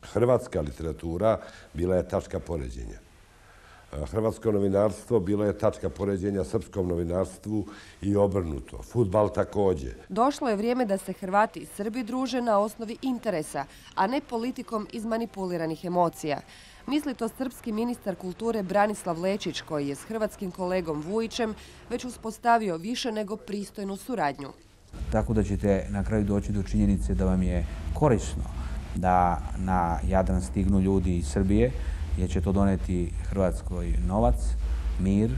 hrvatska literatura bila je tačka poređenja. Hrvatsko novinarstvo bilo je tačka poređenja srpskom novinarstvu i obrnuto. Fudbal također. Došlo je vrijeme da se Hrvati i Srbi druže na osnovi interesa, a ne politikom izmanipuliranih emocija. Misli to srpski ministar kulture Branislav Lečić, koji je s hrvatskim kolegom Vujićem već uspostavio više nego pristojnu suradnju. Tako da ćete na kraju doći do činjenice da vam je korisno da na Jadran stignu ljudi iz Srbije, jer će to doneti Hrvatskoj novac, mir,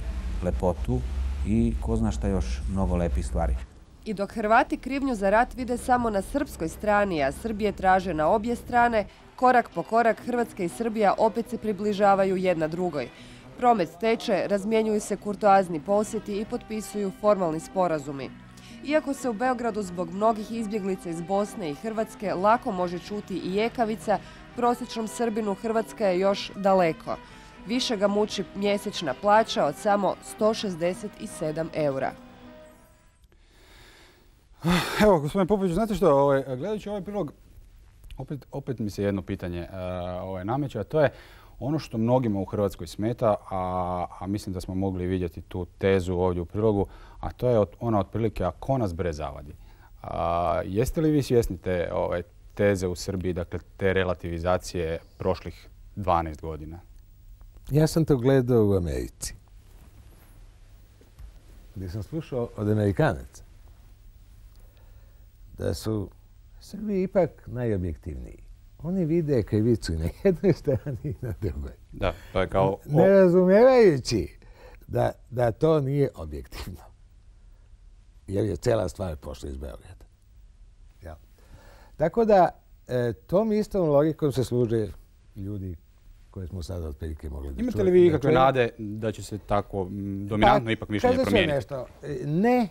lepotu i ko zna šta još mnogo lepih stvari. I dok Hrvati krivnju za rat vide samo na srpskoj strani, a Srbije traže na obje strane, korak po korak Hrvatska i Srbija opet se približavaju jedna drugoj. Promet teče, razmjenjuju se kurtoazni posjeti i potpisuju formalni sporazumi. Iako se u Beogradu zbog mnogih izbjeglica iz Bosne i Hrvatske lako može čuti i ekavica, prosječnom Srbinu Hrvatska je još daleko. Više ga muči mjesečna plaća od samo 167 eura. Evo, gospodine Popović, znate što, gledajući ovaj prilog, opet mi se jedno pitanje nameće, a to je Ono što mnogima u Hrvatskoj smeta, a mislim da smo mogli vidjeti tu tezu ovdje u prilogu, a to je ona otprilike ako nas bre zavadi. Jeste li vi svjesni te teze u Srbiji, dakle te relativizacije prošlih 12 godina? Ja sam to gledao u Americi, gdje sam slušao od Amerikanaca da su Srbi ipak najobjektivniji. Oni vide krivicu i na jednoj strani i na drugoj. Da, to je kao... Ne razumijevajući da to nije objektivno. Jer je cijela stvar pošla iz Beograda. Ja. Tako da tom istom logikom se služe ljudi koje smo sada otprilike mogli da čujemo. Imate li vi ikakve nade da će se tako dominantno ipak mišljenje promijeniti? Nešto. Ne,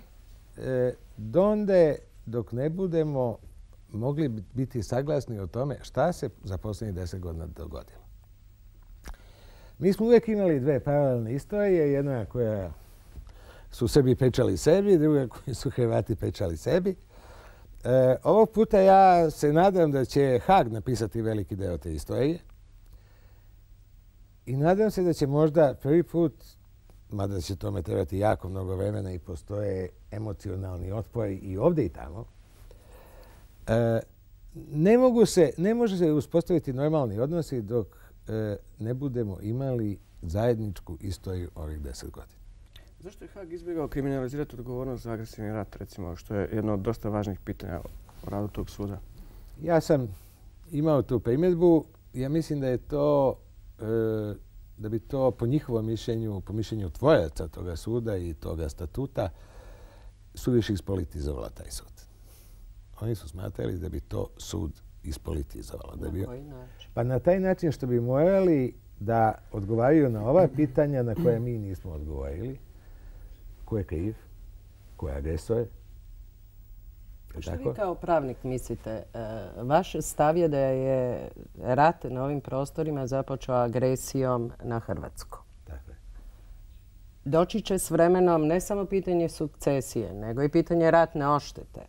donde dok ne budemo mogli biti saglasni o tome šta se za posljednjih 10 godina dogodilo. Mi smo uvijek imali dve paralelne istorije, jedna koja su Srbi pečali sebi, druga koju su Hrvati pečali sebi. Ovog puta ja se nadam da će Haag napisati veliki deo te istorije i nadam se da će možda prvi put, mada će tome trebati jako mnogo vremena i postoje emocionalni otpori i ovdje i tamo, ne može se uspostaviti normalni odnosi dok ne budemo imali zajedničku istoriju ovih 10 godina. Zašto je Haag izbjegao kriminalizirati odgovornost za agresivni rat, recimo, što je jedno od dosta važnih pitanja o radu tog suda? Ja sam imao tu primjedbu. Ja mislim da je to, da bi to po njihovom mišljenju, po mišljenju tvoraca toga suda i toga statuta, suviše ispolitizovalo taj sud. Oni su smatrali da bi to sud ispolitizovalo. Na koji način? Pa na taj način što bi morali da odgovaraju na ova pitanja na koje mi nismo odgovorili. Ko je kriv? Ko je agresor? Što vi kao pravnik mislite? Vaš stav je da je rat na ovim prostorima započeo agresijom na Hrvatsku. Tako je. Doći će s vremenom ne samo pitanje sukcesije, nego i pitanje ratne odštete.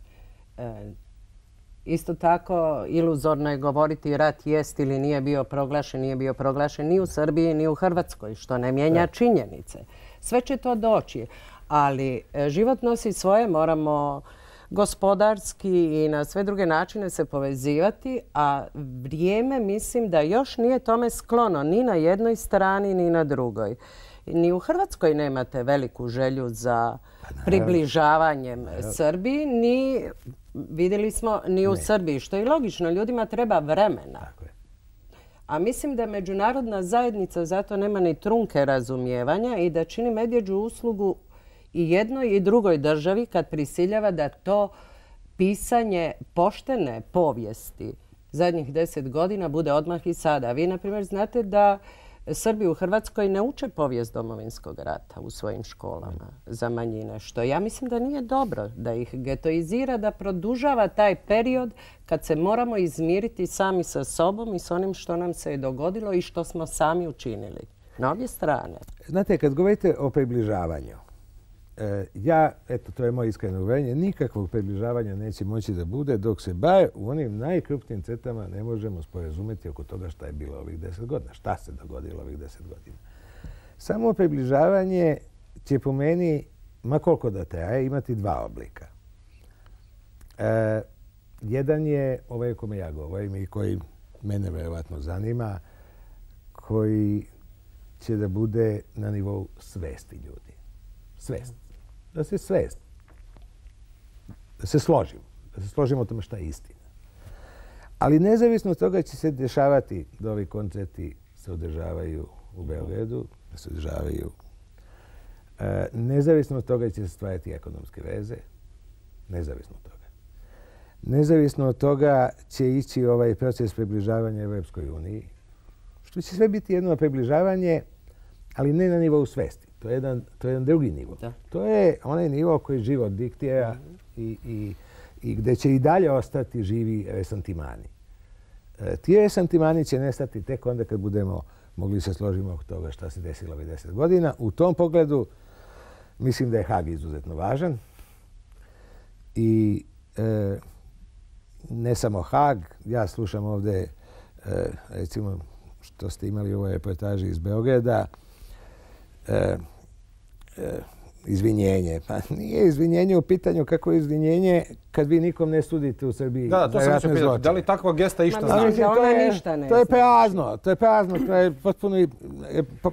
Isto tako, iluzorno je govoriti rat jest ili nije bio proglašen ni u Srbiji, ni u Hrvatskoj, što ne mijenja činjenice. Sve će to doći, ali život nosi svoje, moramo gospodarski i na sve druge načine se povezivati, a vrijeme mislim da još nije tome sklono ni na jednoj strani ni na drugoj. Ni u Hrvatskoj nemate veliku želju za približavanjem Srbiji, ni vidjeli smo ni u Srbiji, što je logično, ljudima treba vremena. A mislim da međunarodna zajednica zato nema ni trunke razumijevanja i da čini medvjeđu uslugu i jednoj i drugoj državi kad prisiljava da to pisanje poštene povijesti zadnjih 10 godina bude odmah i sada. Vi, na primjer, znate da Srbi u Hrvatskoj ne uče povijest Domovinskog rata u svojim školama za manjine, što ja mislim da nije dobro, da ih getoizira, da produžava taj period kad se moramo izmiriti sami sa sobom i s onim što nam se je dogodilo i što smo sami učinili. Na obje strane. Znate, kad govorite o približavanju, to je moje iskreno uvjerenje, nikakvog približavanja neće moći da bude dok se bar u onim najkrupnijim crtama ne možemo sporazumjeti oko toga šta je bilo ovih 10 godina, šta se dogodilo ovih 10 godina. Samo približavanje će po meni, ma koliko da traje, imati dva oblika. Jedan je ovaj o kome ja govorim i koji mene verovatno zanima, koji će da bude na nivou svesti ljudi. Svest. Da se svest. Da se složimo. Da se složimo o tome šta je istina. Ali nezavisno od toga će se dešavati da ovi koncerti se održavaju u Beogradu, da se održavaju. Nezavisno od toga će se stvarati ekonomske veze. Nezavisno od toga. Nezavisno od toga će ići ovaj proces približavanja Evropskoj uniji. Što će sve biti jedno približavanje, ali ne na nivou svesti. To je jedan drugi nivo. To je onaj nivo koji život diktira i gdje će i dalje ostati živi resantimani. Ti resantimani će nestati tek onda kad budemo mogli se složiti oko toga šta se desilo ovih 10 godina. U tom pogledu mislim da je Haag izuzetno važan. I ne samo Haag. Ja slušam ovdje, recimo, to ste imali u ovoj reportaži iz Beograda, izvinjenje. Pa nije izvinjenje u pitanju kako je izvinjenje kad vi nikom ne sudite u Srbiji. Da, to sam mislio pitati. Da li takva gesta išta znači? To je prazno. To je potpuno...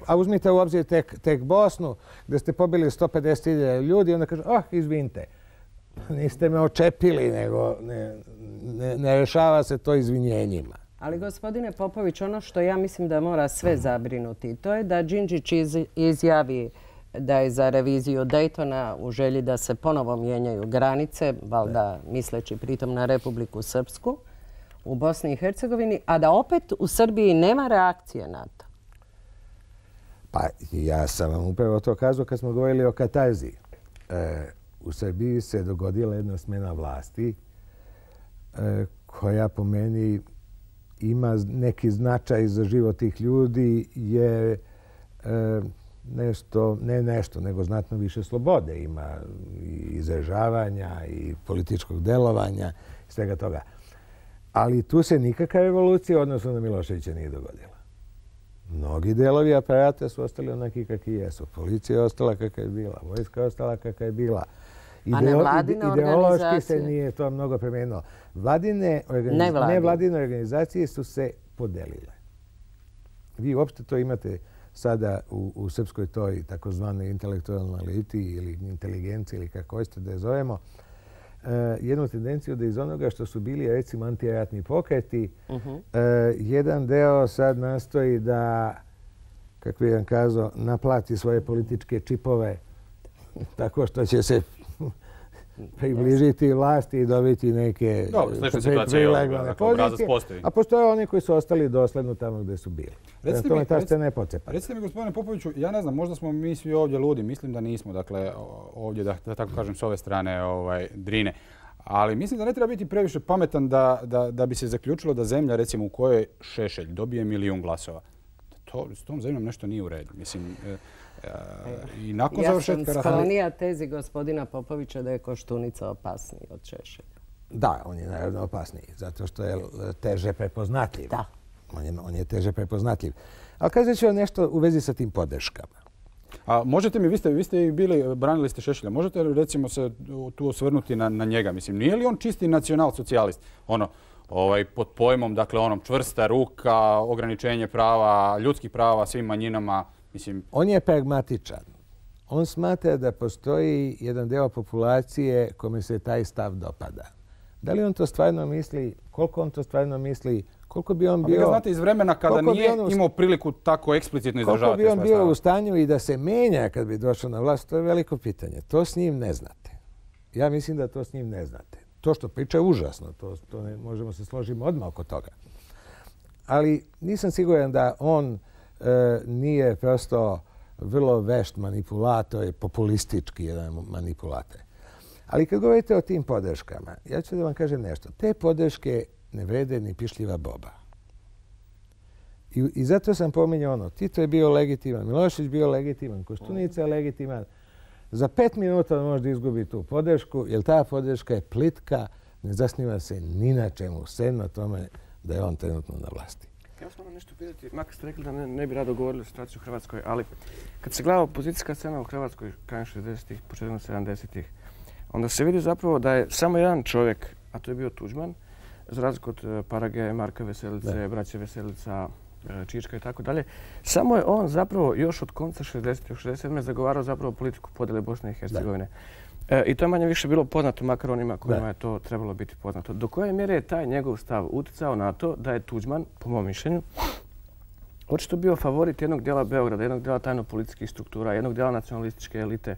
A uzmite u obzir tek Bosnu, gdje ste pobili 150.000 ljudi i onda kažu, izvinite. Niste me očepili, nego ne rešava se to izvinjenjima. Ali, gospodine Popović, ono što ja mislim da mora sve zabrinuti, to je da Đinđić izjavi da je za reviziju Daytona u želji da se ponovo mijenjaju granice, valjda misleći pritom na Republiku Srpsku u Bosni i Hercegovini, a da opet u Srbiji nema reakcije na to. Pa ja sam vam upravo to kazao kad smo govorili o katarzi. U Srbiji se dogodila jedna smjena vlasti koja po meni ima neki značaj za život tih ljudi jer nego znatno više slobode ima i izražavanja i političkog delovanja i svega toga. Ali tu se nikakva revolucija odnosno na Miloševića nije dogodila. Mnogi delovi aparata su ostali onaki kakvi jesu. Policija je ostala kakva je bila, vojska je ostala kakva je bila. A nevladine ideološki se nije to mnogo promijenilo. Nevladine organizacije su se podelile. Vi uopšte to imate sada u srpskoj toj takozvanoj intelektualnoj eliti ili inteligenciji ili kako hoćete da je zovemo, jednu tendenciju da iz onoga što su bili recimo antiratni pokreti, jedan deo sad nastoji da, kako bih vam kazao, naplati svoje političke čipove tako što će se približiti vlasti i dobiti neke privilegovane pozicije. A postoje oni koji su ostali dosledno tamo gdje su bili. Recite mi, gospodine Popoviću, ja ne znam, možda smo mi svi ovdje ludi, mislim da nismo, dakle, ovdje, da tako kažem, s ove strane Drine. Ali mislim da ne treba biti previše pametan da bi se zaključilo da zemlja, recimo, u kojoj Šešelj dobije 1.000.000 glasova, s tom zemljom nešto nije u redu. Mislim, i nakon završetka... Ja sam sklonija tezi gospodina Popovića da je Koštunica opasniji od Šešelja. Da, on je naravno opasniji, zato što je teže prepoznatljiv. Da. On je teže prepoznatljiv. Ali kazat ću vam nešto u vezi sa tim podrškama. A možete mi, vi ste i bili, branili ste Šešelja, možete li recimo se tu osvrnuti na njega? Mislim, nije li on čisti nacional-socijalist? Pod pojmom, dakle, čvrsta ruka, ograničenje prava, ljudskih prava svim manjinama, mislim... On je pragmatičan. On smatra da postoji jedan deo populacije kome se taj stav dopada. Da li on to stvarno misli, koliko on to stvarno misli, koliko bi on bio... Vi ga znate iz vremena kada nije imao priliku tako eksplicitno izražavati svoje stavove. Koliko bi on bio u stanju i da se menja kad bi došao na vlast, to je veliko pitanje. To s njim ne znate. Ja mislim da to s njim ne znate. To što priča je užasno, to ne možemo se složiti odmah oko toga. Ali nisam siguran da on nije prosto vrlo vešt manipulator, populistički jedan manipulator. Ali kad govorite o tim podrškama, ja ću da vam kažem nešto. Te podrške ne vrede ni pišljiva boba. I zato sam pominjao Tito je bio legitiman, Milošević bio legitiman, Koštunica je legitiman. Za 5 minuta može da izgubi tu podršku, jer ta podrška je plitka, ne zasniva se ni na čemu, sem na tome da je on trenutno na vlasti. Ja sam nešto pitati, makar ste rekli da ne bi rado govorili o situaciji u Hrvatskoj, ali kad se gleda opozicijska scena u Hrvatskoj krajem 60-ih, početkom 70-ih, onda se vidi zapravo da je samo jedan čovjek, a to je bio Tuđman, za razliku od Parage, Marka Veselice, braće Veselica, Čička i tako dalje. Samo je on zapravo još od konca 60-ih, 67. zagovarao zapravo politiku podjele Bosne i Hercegovine. I to je manje više bilo poznato, makar onima kojima je to trebalo biti poznato. Do koje mjere je taj njegov stav utjecao na to da je Tuđman, po mom mišljenju, očito bio favorit jednog dijela Beograda, jednog dijela tajno-političkih struktura, jednog dijela nacionalističke elite.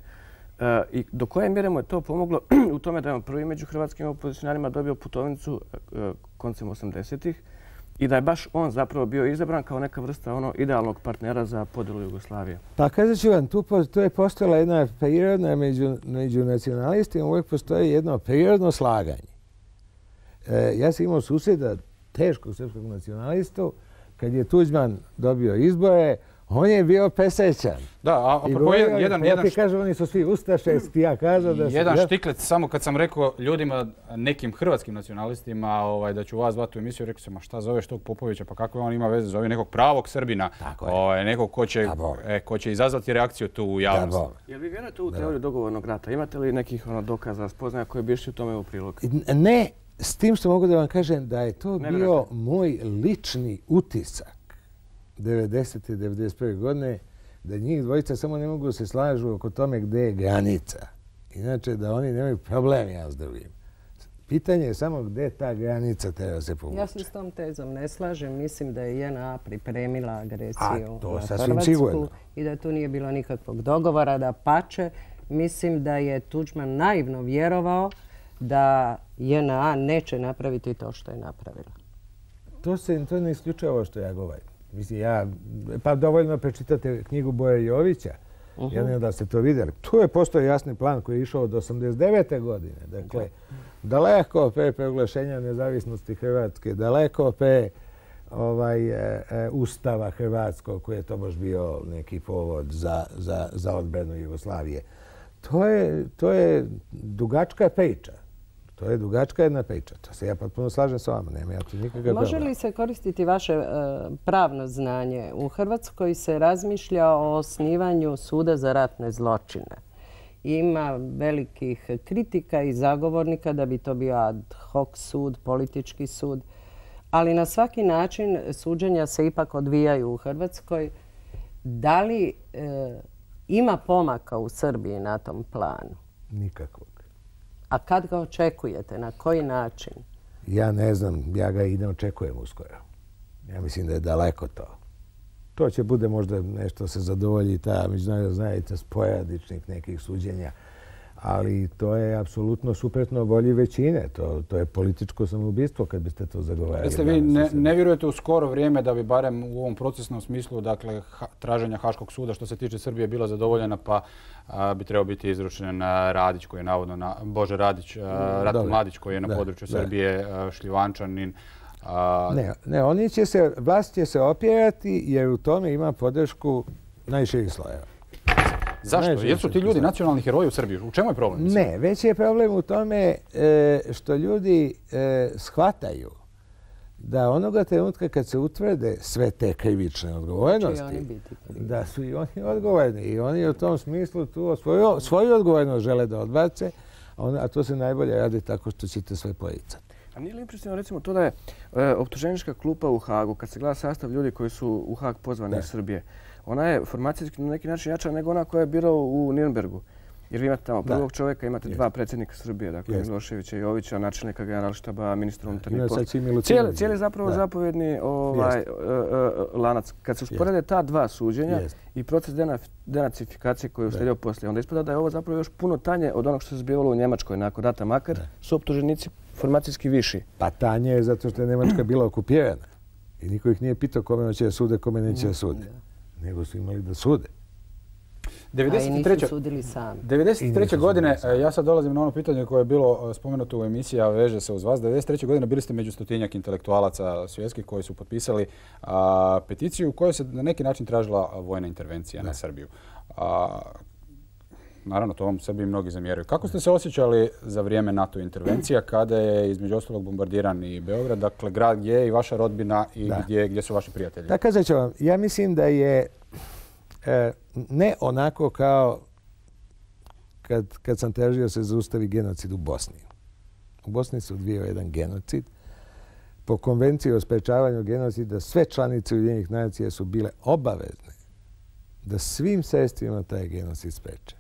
I do koje mjere mu je to pomoglo u tome da je on prvi među hrvatskim opozicionarima dobio putovnicu koncem 80-ih i da je baš on zapravo bio izabran kao neka vrsta idealnog partnera za podjelu Jugoslavije. Pa kazat ću vam, tu je postojala jedna prirodna među nacionalistima, uvijek postoji jedno prirodno slaganje. Ja sam imao susjeda, teškog srpskog nacionalistu, kad je Tuđman dobio izbore, On je bio pesećan. Da, a apropo ja ti kažem, oni su svi ustaše, ja kažem da su... Jedan štiklec, samo kad sam rekao ljudima, nekim hrvatskim nacionalistima, da ću vas zvati u emisiju, rekao sam, a šta zoveš tog Popovića, pa kako on ima veze, zove nekog pravog Srbina, nekog ko će izazvati reakciju tu u javnosti. Jel vi vjerujete u teoriju dogovornog rata? Imate li nekih dokaza, spoznaja koje bi išli u tome u prilog? Ne, s tim što mogu da vam kažem da je to bio moj lični utisak 90. i 91. godine, da njih dvojica samo ne mogu se slažu oko tome gde je granica. Inače, da oni nemaju problem, ja s drugim. Pitanje je samo gde ta granica treba se povući. Ja se s tom tezom ne slažem. Mislim da je JNA pripremila agresiju na Hrvatsku i da tu nije bilo nikakvog dogovora. Da pače, mislim da je Tuđman naivno vjerovao da JNA neće napraviti to što je napravila. To ne isključuje ovo što ja govorim. Mislim, pa dovoljno prečitati knjigu Boje Jovića. Ja ne znam da ste to vidjeli. Tu je postao jasni plan koji je išao od 89. godine. Dakle, daleko pre proglašenja nezavisnosti Hrvatske, daleko pre Ustava Hrvatskog koji je to baš bio neki povod za odbranu Jugoslavije. To je dugačka priča. To je dugačka jedna priča. To se ja potpuno slažem s vama. Nema ja tu nikakav problem. Može li se koristiti vaše pravno znanje? U Hrvatskoj se razmišlja o osnivanju suda za ratne zločine. Ima velikih kritika i zagovornika da bi to bio ad hoc sud, politički sud. Ali na svaki način suđenja se ipak odvijaju u Hrvatskoj. Da li ima pomaka u Srbiji na tom planu? Nikakvog. A kad ga očekujete? Na koji način? Ja ne znam. Ja ga i ne očekujem uskoro. Ja mislim da je daleko to. To će bude možda nešto se zadovolji ta međunarodna zajednica sporadičnih nekih suđenja. Ali to je apsolutno suprotno volji većine. To je političko samoubistvo kad biste to zagovarali. Jeste vi ne vjerujete u skoro vrijeme da bi barem u ovom procesnom smislu, dakle, traženja Haškog suda što se tiče Srbije bila zadovoljena, pa bi trebao biti izručen Radić koji je navodno, Bože Radić, Ratko Mladić koji je na području Srbije, Šljivančanin. Ne, vlast će se opjerati jer u tome ima podršku najširih slojeva. Zašto? Jesu ti ljudi nacionalni heroji u Srbiji? U čemu je problem? Ne, već je problem u tome što ljudi shvataju da onoga trenutka kad se utvrde sve te krivične odgovornosti, da su i oni odgovorni. I oni u tom smislu tu svoju odgovornost žele da odbace, a to se najbolje radi tako što ćete sve poricati. A nije li impresivno recimo to da je optuženička klupa u Hagu, kad se gleda sastav ljudi koji su u Hag pozvani iz Srbije, ona je formacijski na neki način jača nego ona koja je birao u Nirnbergu. Jer vi imate tamo prvog čovjeka, imate dva predsjednika Srbije, dakle Miloševića i Jovića, načelnika generalštaba, ministra unutarnjih poslova. Cijeli zapravo zapovjedni lanac. Kad se usporede ta dva suđenja i proces denacifikacije koji je uslijedio poslije, onda ispada da je ovo zapravo još puno tanje od onog što se zbivalo u Njemačkoj nakon rata, makar su optuženici formacijski viši. Pa tanje je zato što je Njemačka bila okupirana i niko ih nije pitao kome hoće da sude, kome neće da sude. Nego su imali da sude. A i nisu sudili sami. 93. godine, ja sad dolazim na ono pitanje koje je bilo spomenuto u emisiji, a veže se uz vas. 93. godine bili ste među 100-tinjak intelektualaca svjetskih koji su potpisali peticiju u kojoj se na neki način tražila vojna intervencija na Srbiju. Naravno, to vam sebi mnogi zamjeraju. Kako ste se osjećali za vrijeme NATO intervencija kada je između ostalog bombardiran i Beograd, dakle grad gdje je i vaša rodbina i gdje su vaši prijatelji? Da, kazat ću vam, ja mislim da je ne onako kao kad sam tražio se zaustavi genocid u Bosni. U Bosni se odvijao jedan genocid. Po konvenciji o sprečavanju genocida sve članice Ujedinjenih nacija su bile obavezne da svim sredstvima taj genocid spreče.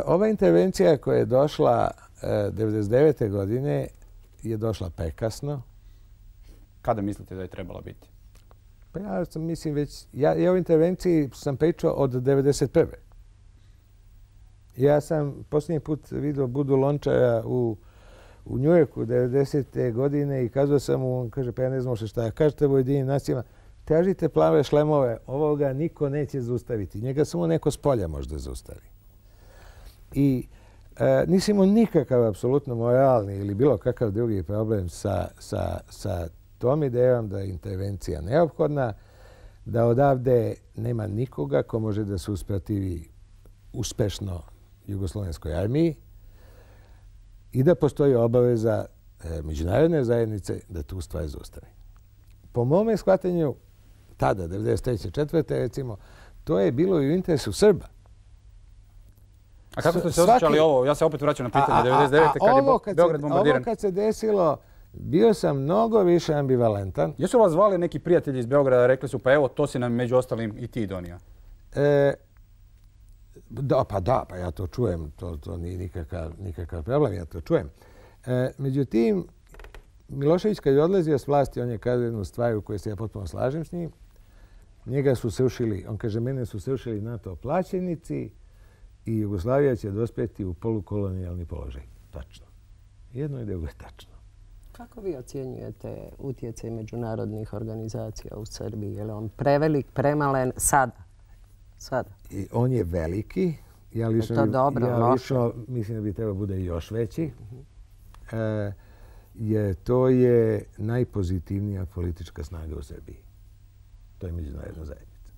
Ova intervencija koja je došla 1999. godine je došla prekasno. Kada mislite da je trebala biti? Pa ja mislim već, ja o intervenciji sam pričao od 1991. Ja sam posljednji put vidio Budu Lončara u Njujorku 1990. godine i kazao sam mu, on kaže, pa ja ne znam šta, kažete Ujedinjenim nacijama, tražite plave šlemove, ovoga niko neće zaustaviti. Njega samo neko s polja možda zaustavi. I nisam imao nikakav apsolutno moralni ili bilo kakav drugi problem sa tom idejom da je intervencija neophodna. da odavde nema nikoga ko može da se usprotivi uspešno Jugoslovenskoj armiji i da postoji obaveza međunarodne zajednice da tu stvar zaustavi. Po mome shvatanju, tada, 1993. 4. recimo, to je bilo i u interesu Srba. A kako ste se osjećali ovo? Ja se opet vraćam na pitanje 99. kad je Beograd bombardiran. Ovo kad se desilo, bio sam mnogo više ambivalentan. Jesu vas zvali neki prijatelji iz Beograda, rekli su pa evo, to si nam među ostalim i ti donio? Pa ja to čujem. To nije nikakav problem, ja to čujem. Međutim, Milošević kad je odlazio s vlasti, on je kazao jednu stvar u kojoj se ja potpuno slažem s njim. Njega su srušili, on kaže, mene su srušili NATO plaćenici i Jugoslavija će dospjeti u polukolonijalni položaj. Tačno. Jedno i drugo je tačno. Kako vi ocjenjujete utjecaj međunarodnih organizacija u Srbiji? Je li on prevelik, premalen sada? On je veliki. Ja lično mislim da bi trebao bude još veći. To je najpozitivnija politička snaga u Srbiji. To je međunarodna zajednica.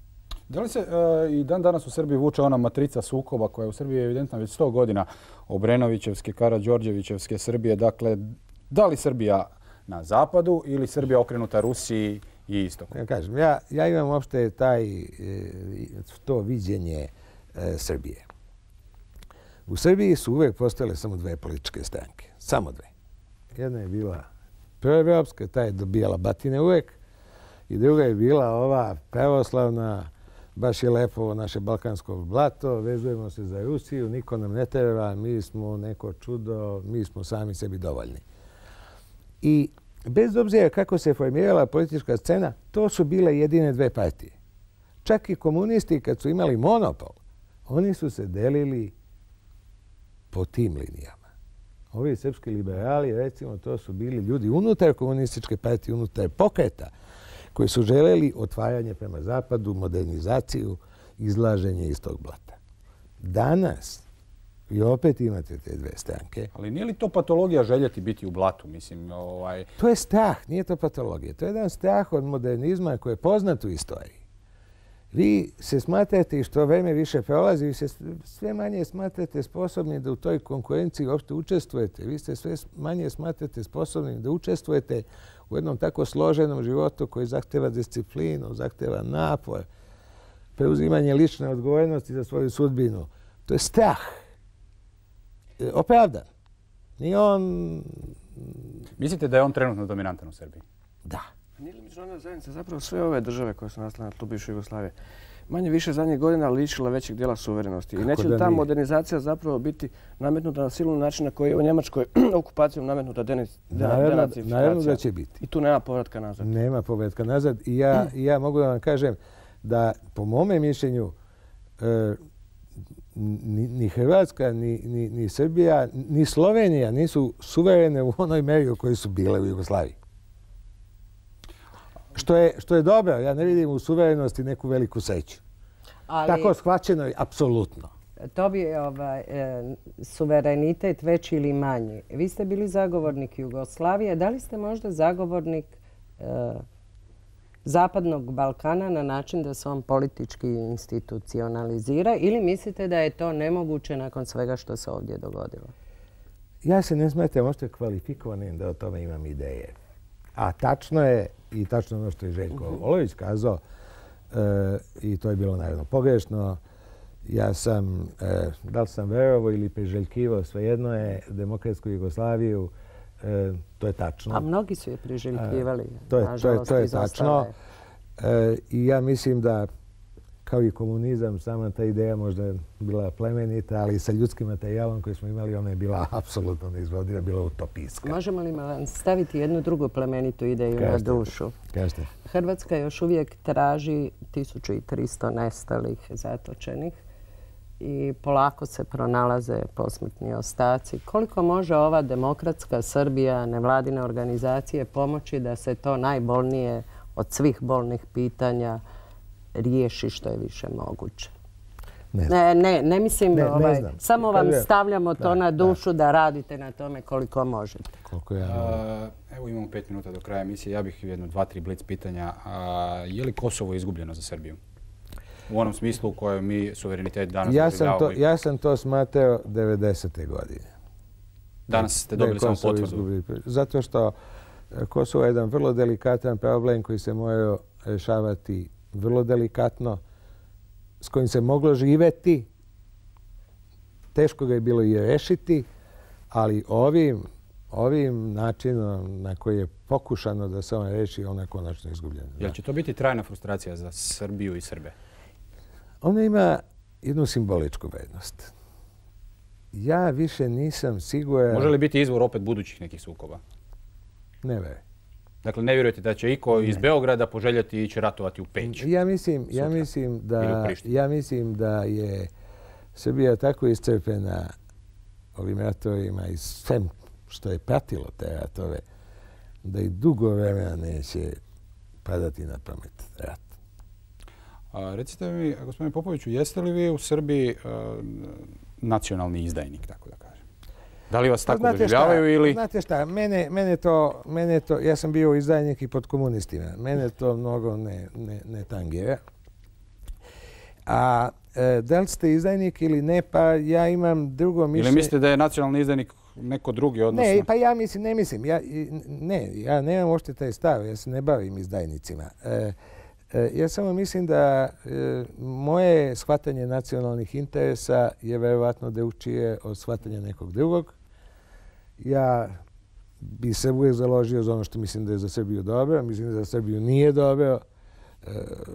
Da li se i dan danas u Srbiji vuče ona matrica sukoba koja je u Srbiji evidentna već 100 godina, Obrenovićevske, Karađorđevićevske Srbije? Dakle, da li Srbija na zapadu ili Srbija okrenuta Rusiji i istoku? Ja kažem, ja imam uopšte to viđenje Srbije. U Srbiji su uvek postojale samo dve političke stranke. Samo dve. Jedna je bila proevropska, ta je dobijala batine uvek, i druga je bila ova pravoslavna, baš je lepo naše balkansko blato, vezujemo se za Rusiju, niko nam ne treba, mi smo neko čudo, mi smo sami sebi dovoljni. I bez obzira kako se formirala politička scena, to su bile jedine dve partije. Čak i komunisti kad su imali monopol, oni su se delili po tim linijama. Ovi srpski liberali, recimo, to su bili ljudi unutar komunističke partije, unutar pokreta, koji su želeli otvaranje prema zapadu, modernizaciju, izlaženje iz tog blata. Danas vi opet imate te dve stranke. Ali nije li to patologija željeti biti u blatu? To je strah, nije to patologija. To je jedan strah od modernizma koji je poznat u istoriji. Vi se smatrate, i što vreme više prolazi, vi se sve manje smatrate sposobni da u toj konkurenciji uopšte učestvujete. Vi se sve manje smatrate sposobni da učestvujete u jednom tako složenom životu koji zahteva disciplinu, zahteva napor, preuzimanje lične odgovornosti za svoju sudbinu. To je strah. Opravdan. Nije on... Mislite da je on trenutno dominantan u Srbiji? Da. Nije li međunarodna zajednica zapravo sve ove države koje su nastale na tlu bivše Jugoslavije manje više zadnjih godina lišila većeg dijela suverenosti? I neće li ta modernizacija zapravo biti nametnuta na silu način na koji je u Njemačkoj okupacijom nametnuta denacifikacija? Naravno da će biti. I tu nema povratka nazad. Nema povratka nazad. I ja mogu da vam kažem da po mome mišljenju ni Hrvatska, ni Srbija, ni Slovenija nisu suverene u onoj meri u kojoj su bile u Jugoslaviji. Što je dobro, ja ne vidim u suverenosti neku veliku sreću. Tako shvaćeno je, apsolutno. To bi je suverenitet veći ili manji. Vi ste bili zagovornik Jugoslavije. Da li ste možda zagovornik Zapadnog Balkana na način da se on politički institucionalizira ili mislite da je to nemoguće nakon svega što se ovdje dogodilo? Ja se ne smatram možda kvalifikovanim da o tome imam ideje. A tačno je, i tačno ono što je Željko Olović kazao, i to je bilo naravno pogrešno, ja sam, da li sam verovao ili priželjkivao, svejedno je demokratsku Jugoslaviju, to je tačno. A mnogi su je priželjkivali, nažalost, to je tačno. I ja mislim da, kao i komunizam, sama ta ideja možda je bila plemenita, ali sa ljudskim materijalom koji smo imali, ona je bila apsolutno neizvodiva, bila utopijska. Možemo li vam staviti jednu drugu plemenitu ideju na dušu? Kažete. Hrvatska još uvijek traži 1300 nestalih, zatočenih i polako se pronalaze posmrtni ostaci. Koliko može ova demokratska Srbija, nevladine organizacije pomoći da se to najbolnije od svih bolnih pitanja riješi što je više moguće? Ne mislim, samo vam stavljamo to na dušu da radite na tome koliko možete. Evo imamo 5 minuta do kraja emisije. Ja bih jedno 2-3 blic pitanja. Je li Kosovo izgubljeno za Srbiju? U onom smislu u kojem mi suverenitet danas doživljavamo. Ja sam to smatrao 90. godine. Danas ste dobili samo potvrdu. Zato što Kosovo je jedan vrlo delikatan problem koji se mora rješavati vrlo delikatno, s kojim se moglo živeti. Teško ga je bilo i rešiti, ali ovim načinom na koji je pokušano da se on reši, ona je konačno izgubljena. Jel će to biti trajna frustracija za Srbiju i Srbe? Ona ima jednu simboličku vrednost. Ja više nisam siguran... Može li biti izvor opet budućih nekih sukoba? Ne vjerujem. Dakle, ne vjerujete da će iko iz Beograda poželjeti ići ratovati u Peć? Ja mislim da je Srbija tako iscrpljena ovim ratovima i svem što je pratilo te ratove, da i dugo vremena neće padati na pamet rat. Recite mi, gospodine Popoviću, jeste li vi u Srbiji nacionalni izdajnik, tako da kažem? Da li vas tako doživljavaju ili... Znate šta, mene to, ja sam bio izdajnik i pod komunistima. Mene to mnogo ne tangira. A da li ste izdajnik ili ne, pa ja imam drugo mišljenje... Ili mislite da je nacionalni izdajnik neko drugi, odnosno... Ne, pa ja ne mislim. Ja nemam uopšte taj stav, ja se ne bavim izdajnicima. Ja samo mislim da moje shvatanje nacionalnih interesa je verovatno drugčije od shvatanja nekog drugog. Ja bi se uvijek založio za ono što mislim da je za Srbiju dobro, mislim da za Srbiju nije dobro,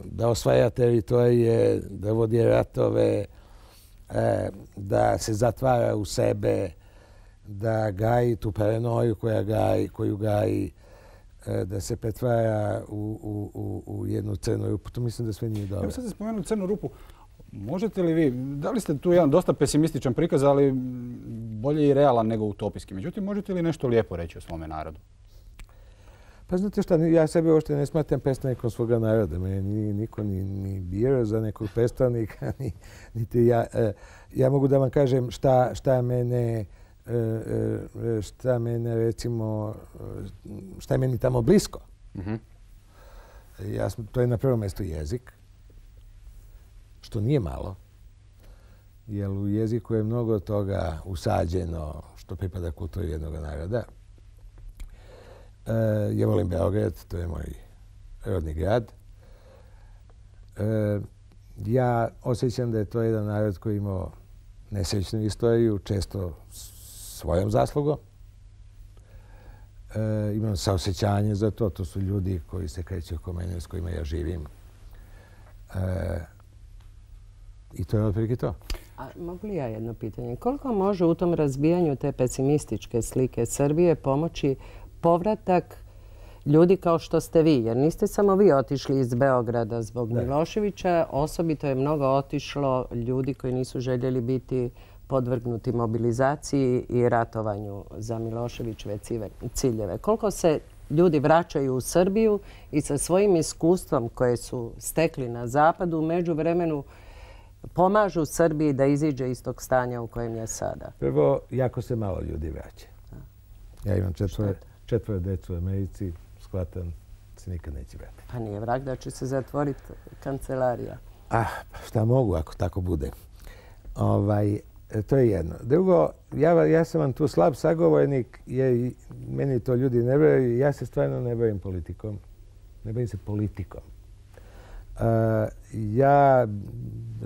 da osvaja teritorije, da vodi ratove, da se zatvara u sebe, da gaji tu paranoju koju gaji, da se pretvara u jednu crnu rupu. To mislim da sve nije dobro. Evo sad ste spomenuli crnu rupu. Možete li vi, da li ste tu jedan dosta pesimističan prikaz, ali bolje i realan nego utopijski. Međutim, možete li nešto lijepo reći o svome narodu? Pa znate šta, ja sebe uopšte ne smatram predstavnikom svoga naroda. Mene niko ni birao za nekog predstavnika, niti ja. Ja mogu da vam kažem šta mene recimo, šta je meni tamo blisko. To je na prvom mjestu jezik, što nije malo, jer u jeziku je mnogo toga usađeno što pripada kulturi jednog naroda. Ja volim Beograd, to je moj rodni grad. Ja osjećam da je to jedan narod koji imao nesrećnu istoriju, često svojom zaslugom. Imam saosjećanje za to. To su ljudi koji se kreću oko mene, s kojima ja živim. I to je otprilike to. A mogu li ja jedno pitanje? Koliko može u tom razbijanju te pesimističke slike Srbije pomoći povratak ljudi kao što ste vi? Jer niste samo vi otišli iz Beograda zbog Miloševića. Osobito je mnogo otišlo ljudi koji nisu željeli biti podvrgnuti mobilizaciji i ratovanju za Miloševićeve ciljeve. Koliko se ljudi vraćaju u Srbiju i sa svojim iskustvom koje su stekli na zapadu u međuvremenu pomažu Srbiji da iziđe iz tog stanja u kojem je sada? Prvo, jako se malo ljudi vraća. Ja imam četvoro djecu u Americi, shvatam se nikad neće vratiti. Pa nije vrag da će se zatvoriti kancelarija. Šta mogu ako tako bude. To je jedno. Drugo, ja sam vam tu slab sagovornik jer meni to ljudi ne vjeruju. Ja se stvarno ne bavim politikom. Ne bavim se politikom. Ja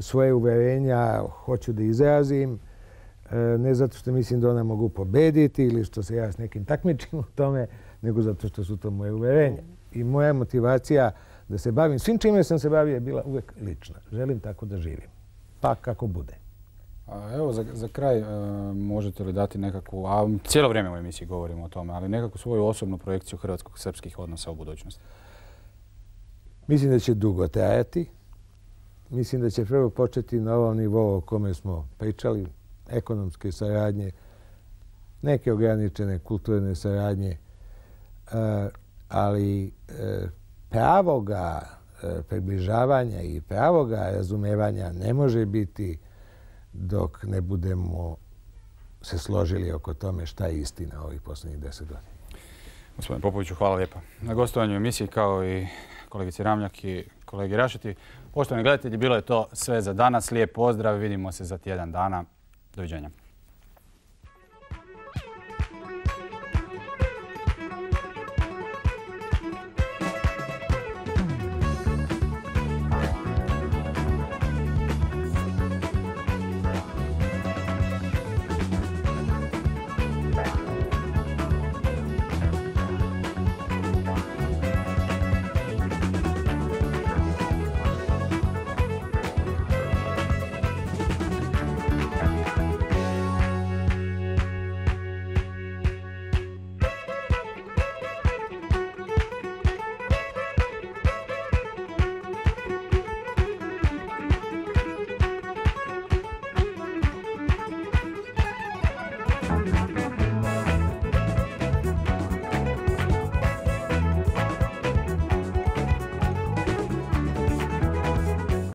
svoje uverenja hoću da izrazim, ne zato što mislim da ona mogu pobediti ili što se ja s nekim takmičim u tome, nego zato što su to moje uverenja. I moja motivacija da se bavim svim čime sam se bavio je bila uvek lična. Želim tako da živim. Pa kako bude. Evo, za kraj možete li dati nekakvu, a cijelo vrijeme u emisiji govorimo o tome, ali nekakvu svoju osobnu projekciju hrvatsko-srpskih odnosa u budućnosti? Mislim da će dugo trajati. Mislim da će prvo početi na ovom nivou o kome smo pričali, ekonomske saradnje, neke ograničene kulturne saradnje, ali pravoga približavanja i pravoga razumevanja ne može biti dok ne budemo se složili oko tome šta je istina ovih posljednjih 10 godina. Gospodine Popoviću, hvala lijepa na gostovanju u emisiji, kao i kolegici Ramljak i kolegi Rašeti. Poštovani gledatelji, bilo je to sve za danas. Lijep pozdrav, vidimo se za tjedan dana. Doviđenja.